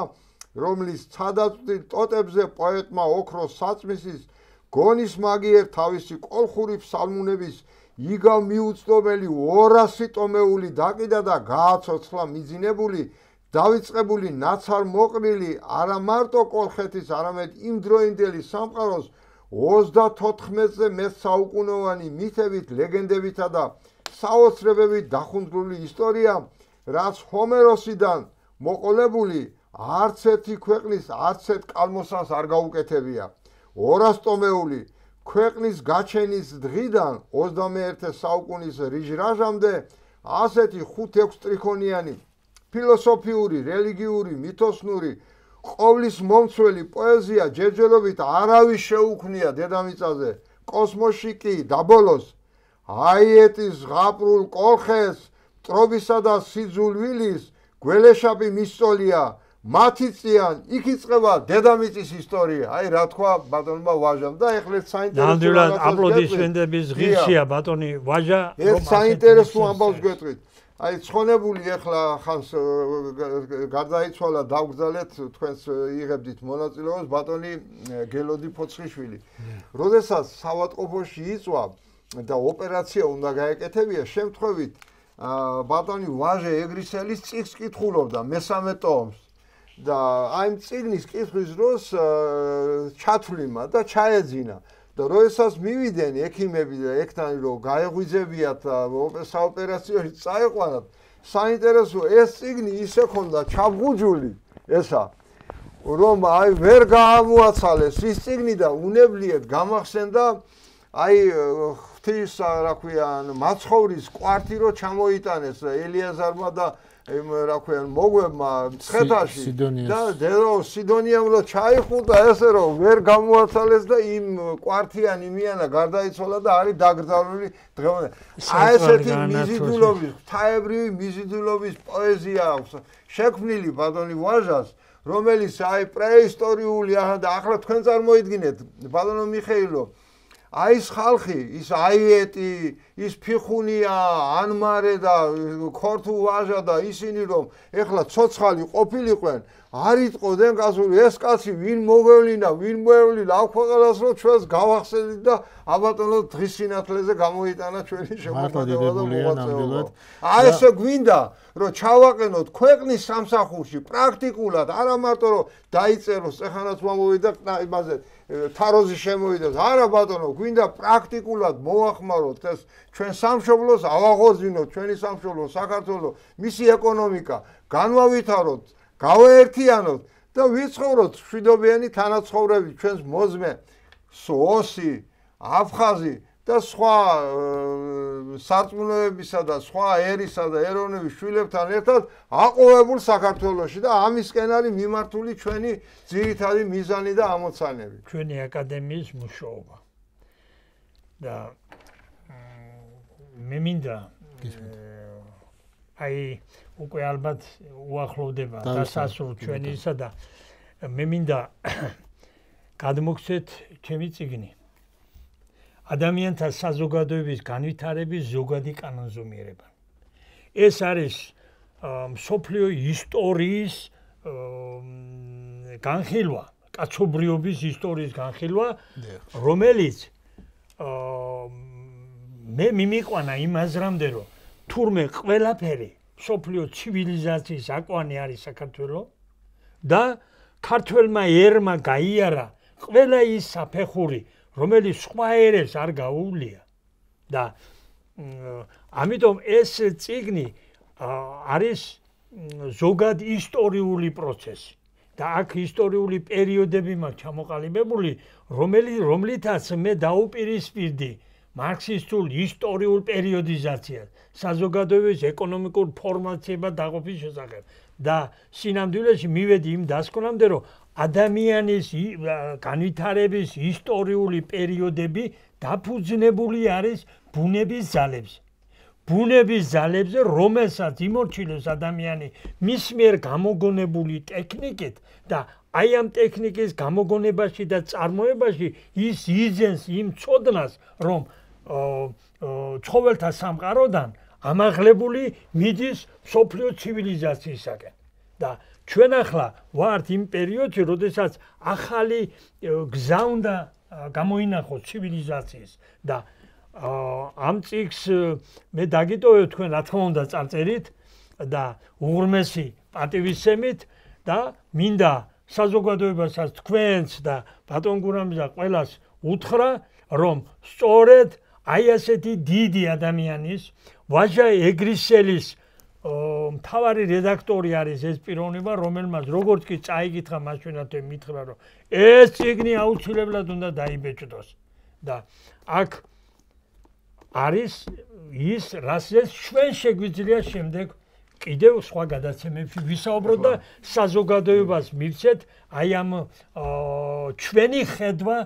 რომლის ცადაწვდილ ტოტებზე პოეტმა ოქროს საწმისის გონის მაგიერ თავისი კოლხური ფსალმუნების იგავ მიუწვდომელი 200 ტომეული დაკიდა და გააცოცხლა მიძინებული, დავიწყებული ნაცარ მოყრილი არა მარტო კოლხეთის, არამედ იმ დროინდელი სამყაროს 34-ზე მეტ საუკუნოვანი მითებით, ლეგენდებითა და საოცრებებით დახუნძვრული ისტორია, რაც ჰომეროსიდან მოყოლებული არც ერთი ქვეყნის არც ერთ კალმოსანს არ გაუკეთებია. 200 ტომეული ქვეყნის გაჩენის დღიდან 21 საუკუნის რიჟრაჟამდე ასეთი 5-6 ტრიქონიანი ფილოსოფიური, რელიგიური, მითოსნური, ყოვლის მომცველი პოეზია ჯერჯერობით არავის შეუქმნია დედამიწაზე, კოსმოსში კი და ბოლოს აიეტის ზღაპრულ კოლხეს, ტრობისა და სიძულვილის გველეშაპი მისწოლია, მათი წიან იქ იწყება დედამიწის ისტორია. აი რა თქვა ბატონმა ვაჟამ და ეხლა საინტერესო ნამდვილად აპლოდისმენტების ღირსია ბატონი ვაჟა, რომ საინტერესო ამბავს გვეტყვით. აი ცხონებული ეხლა ხანს გარდაიცვალა, დავგზავნეთ თქვენს იღებდით მონაწილეობას ბატონი გელოდი ფოცხიშვილი. როდესაც საავადმყოფოში იწვა და ოპერაცია უნდა გაეკეთებია, შემთხვევით ბატონი ვაჟა ეგრისელის წიგნს კითხულობდა მესამე ტომს და აი ამ წიგნის კითხვის დროს ჩათვლიმა და ჩაეძინა და როდესაც მივიდნენ ექიმები და ექთანი რომ გაეღვიძებიათ საოპერაციოში წაეყვანათ, საინტერესო ეს წიგნი ისე ქონდა ჩაბღუჯული ესა რომ აი ვერ გაამოაცალეს ის წიგნი და უნებლიეთ გამახსენდა აი ღვთის რა ქვიან მაცხოვრის კვართი რო ჩამოიტანეს ელიაზარმა და რა ქვიან მოგვებმა მცხეთაში და დედო სიდონიამ რო ჩაიხუტა ესე რომ ვერ გამოაცალეს და იმ კვართიან იმიანა გარდაიცვალა და არის დაკრძალული დღევანდელ. აი ესეთი მიზიდულობის, ღვთაებრივი მიზიდულობის პოეზია აქვს შექმნილი ბატონი ვაჟას, რომელიც აი პრეისტორიული და ახლა თქვენ წარმოიდგინეთ ბატონო მიხეილო, აი ეს ხალხი, ის აიეტი, ის ფიხუნია, ანმარე და ქორთუ ვაჟა და ისინი რომ ეხლა ცოცხალი ყოფილიყვენ, არ იტყოდნენ გასული ეს კაცი ვინ მოგევლინა, ვინ მოევლინა, აქ ქვეყანას რომ ჩვენს გავახსენით და აბატონო დღის სინათლეზე გამოიტანა ჩვენი შემოქმედება და მოღვაწეობა. აი ესე გვინდა რომ ჩავაყენოთ ქვეყნის სამსახურში პრაქტიკულად, არა მარტო რომ დაიწეროს, ეხანაც მომოვიდა იმაზე თაროზი შემოვიდეს. არა ბატონო, გვინდა პრაქტიკულად მოახმაროთ ეს ჩვენ სამშობლოს, ავაღოძინოთ ჩვენი სამშობლო საქართველოს, მისი ეკონომიკა, განვავითაროთ, გავაერთიანოთ და ვიცხოვროთ მშვიდობიანი თანაცხოვრებით ჩვენს მოძმე სოოსი, აფხაზი და სხვა სარწმუნოებისა და სხვა ერისა და ეროვნების შვილებთან ერთად აყოვებულ საქართველოში და ამისკენ არის მიმართული ჩვენი ძირითადი მიზანი და ამოცანები. ჩვენი აკადემიის მუშაობა. და მე მინდა აი უკვე ალბათ უახლოვდება დასასრულ ჩვენისა და მე მინდა გადმოგცეთ ჩემი წიგნი. ადამიანთა საზოგადოების განვითარების ზოგადი კანონზომიერება. ეს არის მსოფლიო ისტორიის განხილვა, კაცობრიობის ისტორიის განხილვა, რომელიც მე მიმიყვანა იმ აზრამდე, რომ თურმე ყველაფერი მსოფლიო ცივილიზაციის აკვანი არის საქართველო და ქართველმა ერმა გაიარა ყველა ის საფეხური, რომელიც სხვა ერებს არ გაუვლია და ამიტომ ეს წიგნი არის ზოგად ისტორიული პროცესი და აქ ისტორიული პერიოდები მაქვს ჩამოყალიბებული, რომლითაც მე დაუპირისპირდი მარქსისტულ ისტორიულ პერიოდიზაციას საზოგადოების ეკონომიკურ ფორმაციებად დაყოფის შესახებ და სინამდვილეში მივედი იმ დასკვნამდე, რომ ადამიანის განვითარების ისტორიული პერიოდები დაფუძნებული არის ბუნების ძალებზე. ბუნების ძალებზე, რომელსაც იმორჩილებს ადამიანი მის მიერ გამოგონებული ტექნიკით და აი ამ ტექნიკის გამოგონებაში და წარმოებაში ის იძენს იმ ცოდნას, რომ ცხოველთა სამყაროდან ამაღლებული მიდის მსოფლიო ცივილიზაციისაკენ. და ჩვენ ახლა ვართ იმ პერიოდში, როდესაც ახალი გზა უნდა გამოინახოს ცივილიზაციის და ამ წიგს მე დაგიტოვებ თქვენ რა თქმა უნდა წარწერით და უღრმესი პატივისცემით და მინდა საზოგადოებასაც თქვენს და ბატონ გურამზა ყველას უთხრა, რომ სწორედ აი ასეთი დიდი ადამიანის ვაჟა ეგრისელის მთავარი რედაქტორი არის ეს პიროვნება, რომელმაც როგორც კი წაიგითხა მასვენათვე მითხრა, რომ ეს წიგნი აუცილებლად უნდა დაიბეჭდოს და აქ არის ის, რასაც ჩვენ შეგვიძლია შემდეგ კიდევ სხვა გადაცემებში ვისაუბროთ და საზოგადოებას მივცეთ აი ამ ჩვენი ხედვა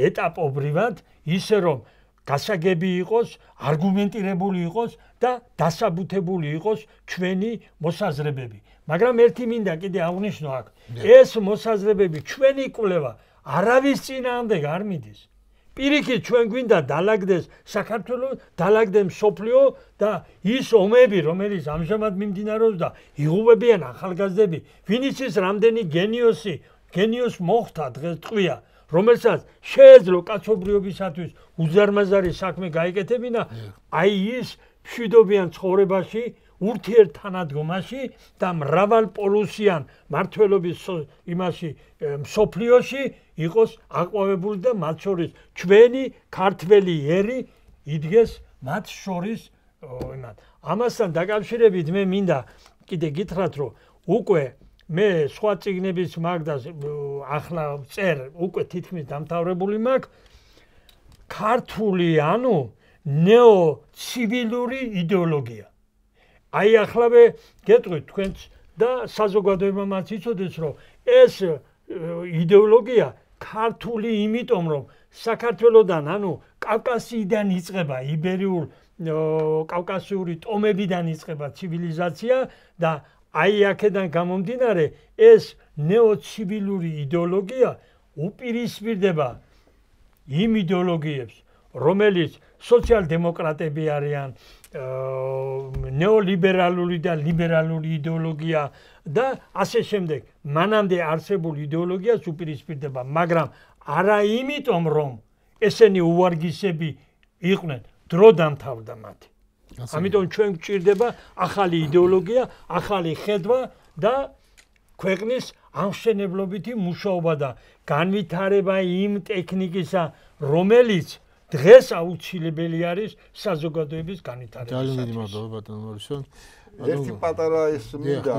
ეტაპობრივად ისე რომ გასაგები იყოს, არგუმენტირებული იყოს და დასაბუთებული იყოს ჩვენი მოსაზრებები. მაგრამ ერთი მინდა კიდე აღნიშნო აქ, ეს მოსაზრებები ჩვენი კვლევა არავის წინააღმდეგ არ მიდის. პირიქით ჩვენ გვინდა დალაგდეს საქართველო, დალაგდეს მსოფლიო და ის ომები, რომელიც ამჟამად მიმდინარეობს და იღუპებიან ახალგაზრდები, ვინც ის რამდენი გენიოს მოხდა დღეს ტყვია, რომელსაც შეეძლო კაცობრიობისათვის უზარმაზარი საქმე გაიკეთებინა, აი ის მშვიდობიან ცხოვრებაში, ურთიერთთანადგომაში და მრავალპოლუსიან მმართველობის იმაში მსოფლიოში იყოს აყვავებული და მათ შორის ჩვენი ქართველი ერი იდგეს მათ შორის იმათ. ამასთან დაკავშირებით მე მინდა კიდე გითხრათ, რომ უკვე მე სხვა წიგნების მაგ და ახლა წერ უკვე თითქმის დამთავრებული მაქვს ქართული ანუ ნეოცივილური იდეოლოგია. აიახლავე გეტყვით თქვენც და საზოგადოებამაც იცოდეს, რომ ეს იდეოლოგია ქართული იმიტომ, რომ საქართველოდან ანუ კავკასიიდან იწყება იბერიულ კავკასიური ტომებიდან იწყება ცივილიზაცია და აი აქედან გამომდინარე ეს ნეოცივილური იდეოლოგია უპირისპირდება იმ იდეოლოგიებს, რომელიც სოციალ-დემოკრატები არიან, ნეოლიბერალური და ლიბერალური იდეოლოგია და ასე შემდეგ. მანამდე არსებულ იდეოლოგიას უპირისპირდება, მაგრამ არა იმიტომ, რომ ესენი უვარგისები იყვნენ, დრო დამთავრდა მათი. ამიტომ ჩვენ გვჭირდება ახალი იდეოლოგია, ახალი ხედვა და ქვეყნის ამშენებლობითი მუშაობა და განვითარება იმ ტექნიკისა, რომელიც დღეს აუცილებელი არის საზოგადოების განვითარებისათვის. ძალიან დიდი მადლობა ბატონო მორისონ. ერთი პატარა ის მინდა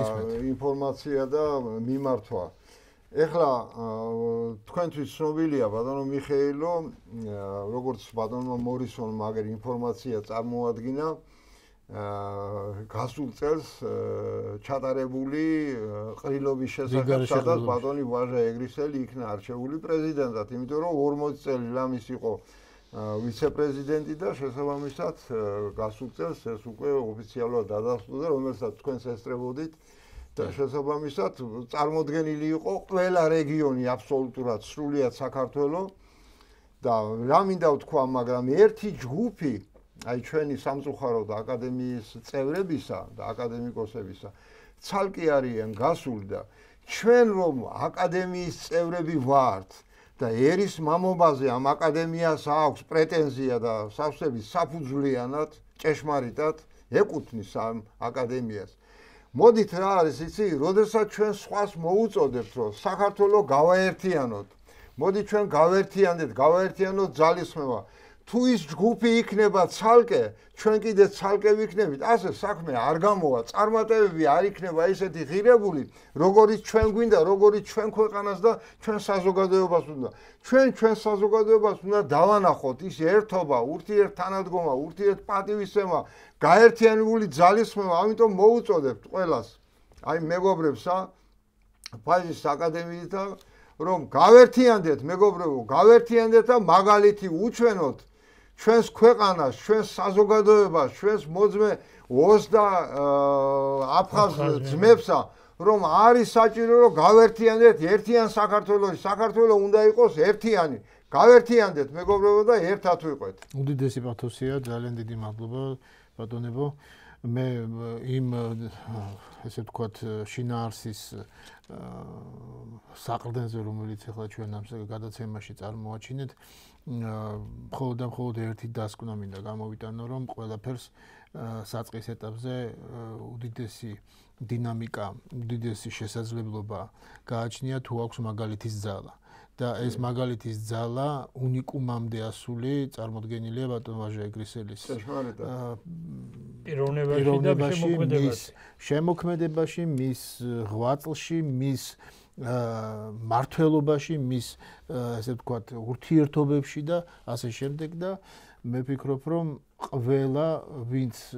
ინფორმაცია და მიმართვა. ეხლა თქვენთვის ცნობილია ბატონო მიხეილო, როგორც ბატონო მორისონმა აგერ ინფორმაცია წარმოადგინა გასულ წელს ჩატარებული ყრილობის შესახებ, სადაც ბატონი ვაჟა ეგრისელი იქნა არჩეული პრეზიდენტად, იმიტომ რომ 40 წელი ლამის იყო ვიცე-პრეზიდენტი და შესაბამისად გასულ წელს ეს უკვე ოფიციალურად დადასტურდა, რომელსაც თქვენს ესწრებოდით და შესაბამისად წარმოდგენილი იყო ყველა რეგიონი აბსოლუტურად სრულიად საქართველოს და რა მინდა ვთქვა, მაგრამ ერთი ჯგუფი აი ჩვენი სამწუხაროდ აკადემიის წევრებისა და აკადემიკოსებისა ცალკე არიან გასული და ჩვენ რომ აკადემიის წევრები ვართ და ერის მამობაზე ამ აკადემიას აქვს პრეტენზია და სავსებით საფუძვლიანად, ჭეშმარიტად ეკუთვნის ამ აკადემიას. მოდით რა არის იცი, როდესაც ჩვენ სხვას მოუწოდებთ, რომ საქართველოს გავაერთიანოთ. მოდით ჩვენ გავაერთიანოთ ძალისხმევა. თუ ის ჯგუფი იქნება ცალკე, ჩვენ კიდე ცალკე ვიქნებით, ასე საქმე არ გამოვა, წარმატებები არ იქნება ისეთი ღირებული, როგორიც ჩვენ გვინდა, როგორიც ჩვენ ქვეყანას და ჩვენ საზოგადოებას უნდა. ჩვენ საზოგადოებას უნდა დავანახოთ ის ერთობა, ურთიერთთანადგომა, ურთიერთპატივისცემა, გაერთიანებული ძალისხმევა, ამიტომ მოუწოდებთ ყველას, აი მეგობრებსა, ფაიზის აკადემიიდან, რომ გავერთიანდეთ, მეგობრებო, გავერთიანდეთ და მაგალითი უჩვენოთ ჩვენს ქვეყანას, ჩვენს საზოგადოებას, ჩვენს მოძმე ოს და აფხაზ ძმებსა, რომ არის საჭირო, რომ გავერთიანდეთ ერთიან საქართველოში. საქართველოს უნდა იყოს ერთიანი. გავერთიანდეთ, მეგობრებო და ერთად ვიყვეთ. უდიდესი პათოსია, ძალიან დიდი მადლობა, ბატონებო. მე იმ ესე ვთქვათ შინაარსის საყრდენზე, რომელიც ახლა ჩვენ ამ გადაცემაში წარმოაჩინეთ, მხოლოდ ერთი დასკვნა მინდა გამოვიტანო, რომ ყველაფერს საწყის ეტაპზე უდიდესი დინამიკა, უდიდესი შესაძლებლობა გააჩნია თუ აქვს მაგალითის ძალა. და ეს მაგალითის ძალა უნიკუმამდე ასული წარმოდგენილია ბატონ ვაჟა ეგრისელის პიროვნებაში და შემოქმედებაში, მის ღვაწლში, მის მართლობაში, მის ესე ვთქვათ ურთიერთობებში და ასე შემდეგ და მე ვფიქრობ, რომ ყველა ვინც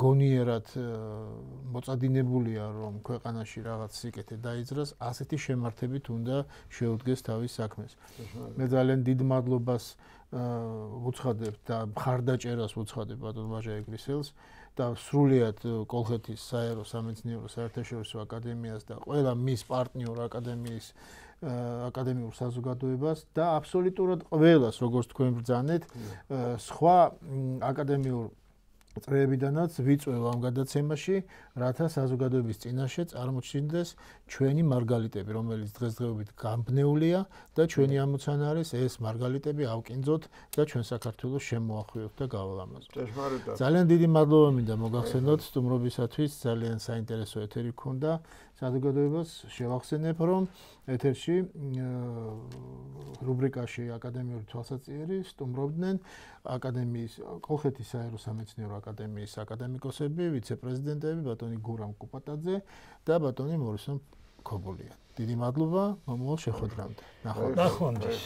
გონიერად მოწადინებულია, რომ ქვეყანაში რაღაც სიკეთე დაიძრას, ასეთი შემართებით უნდა შეუდგეს თავის საქმეს. მე ძალიან დიდ მადლობას ვუცხადებ და მხარდაჭერას ვუცხადებ ბატონ ვაჟა ეგრისელს და სრულიად კოლხეთის საერო სამეცნიერო საერთაშორისო აკადემიას და ყველა მის პარტნიორ აკადემიურ საზოგადოებას და აბსოლუტურად ყველას, როგორც თქვენ ბრძანეთ, სხვა აკადემიურ წრეებიდანაც ვიწვევ ამ გადაცემაში, რათა საზოგადოების წინაშე წარმოჩინდეს ჩვენი მარგალიტები, რომელიც დღესდღეობით გამბნეულია და ჩვენი ამოცანა არის ეს მარგალიტები ავკინძოთ და ჩვენ საქართველოს შემოახვიოთ და გავალამაზოთ. ძალიან დიდი მადლობა მინდა მოგახსენოთ სტუმრობისათვის, ძალიან საინტერესო ეთერი გქონდა. საზოგადოებას შევახსენებ, რომ ეთერში რუბრიკაში აკადემიური თვალსაჩინო სტუმრობდნენ აკადემიის კოლხეთის საერო სამეცნიერო აკადემიის აკადემიკოსები, ვიცე-პრეზიდენტები ბატონი გურამ კუპატაძე და ბატონი მორისონ ქობულია. დიდი მადლობა მომავალ შეხვედრამდე. ნახვამდის.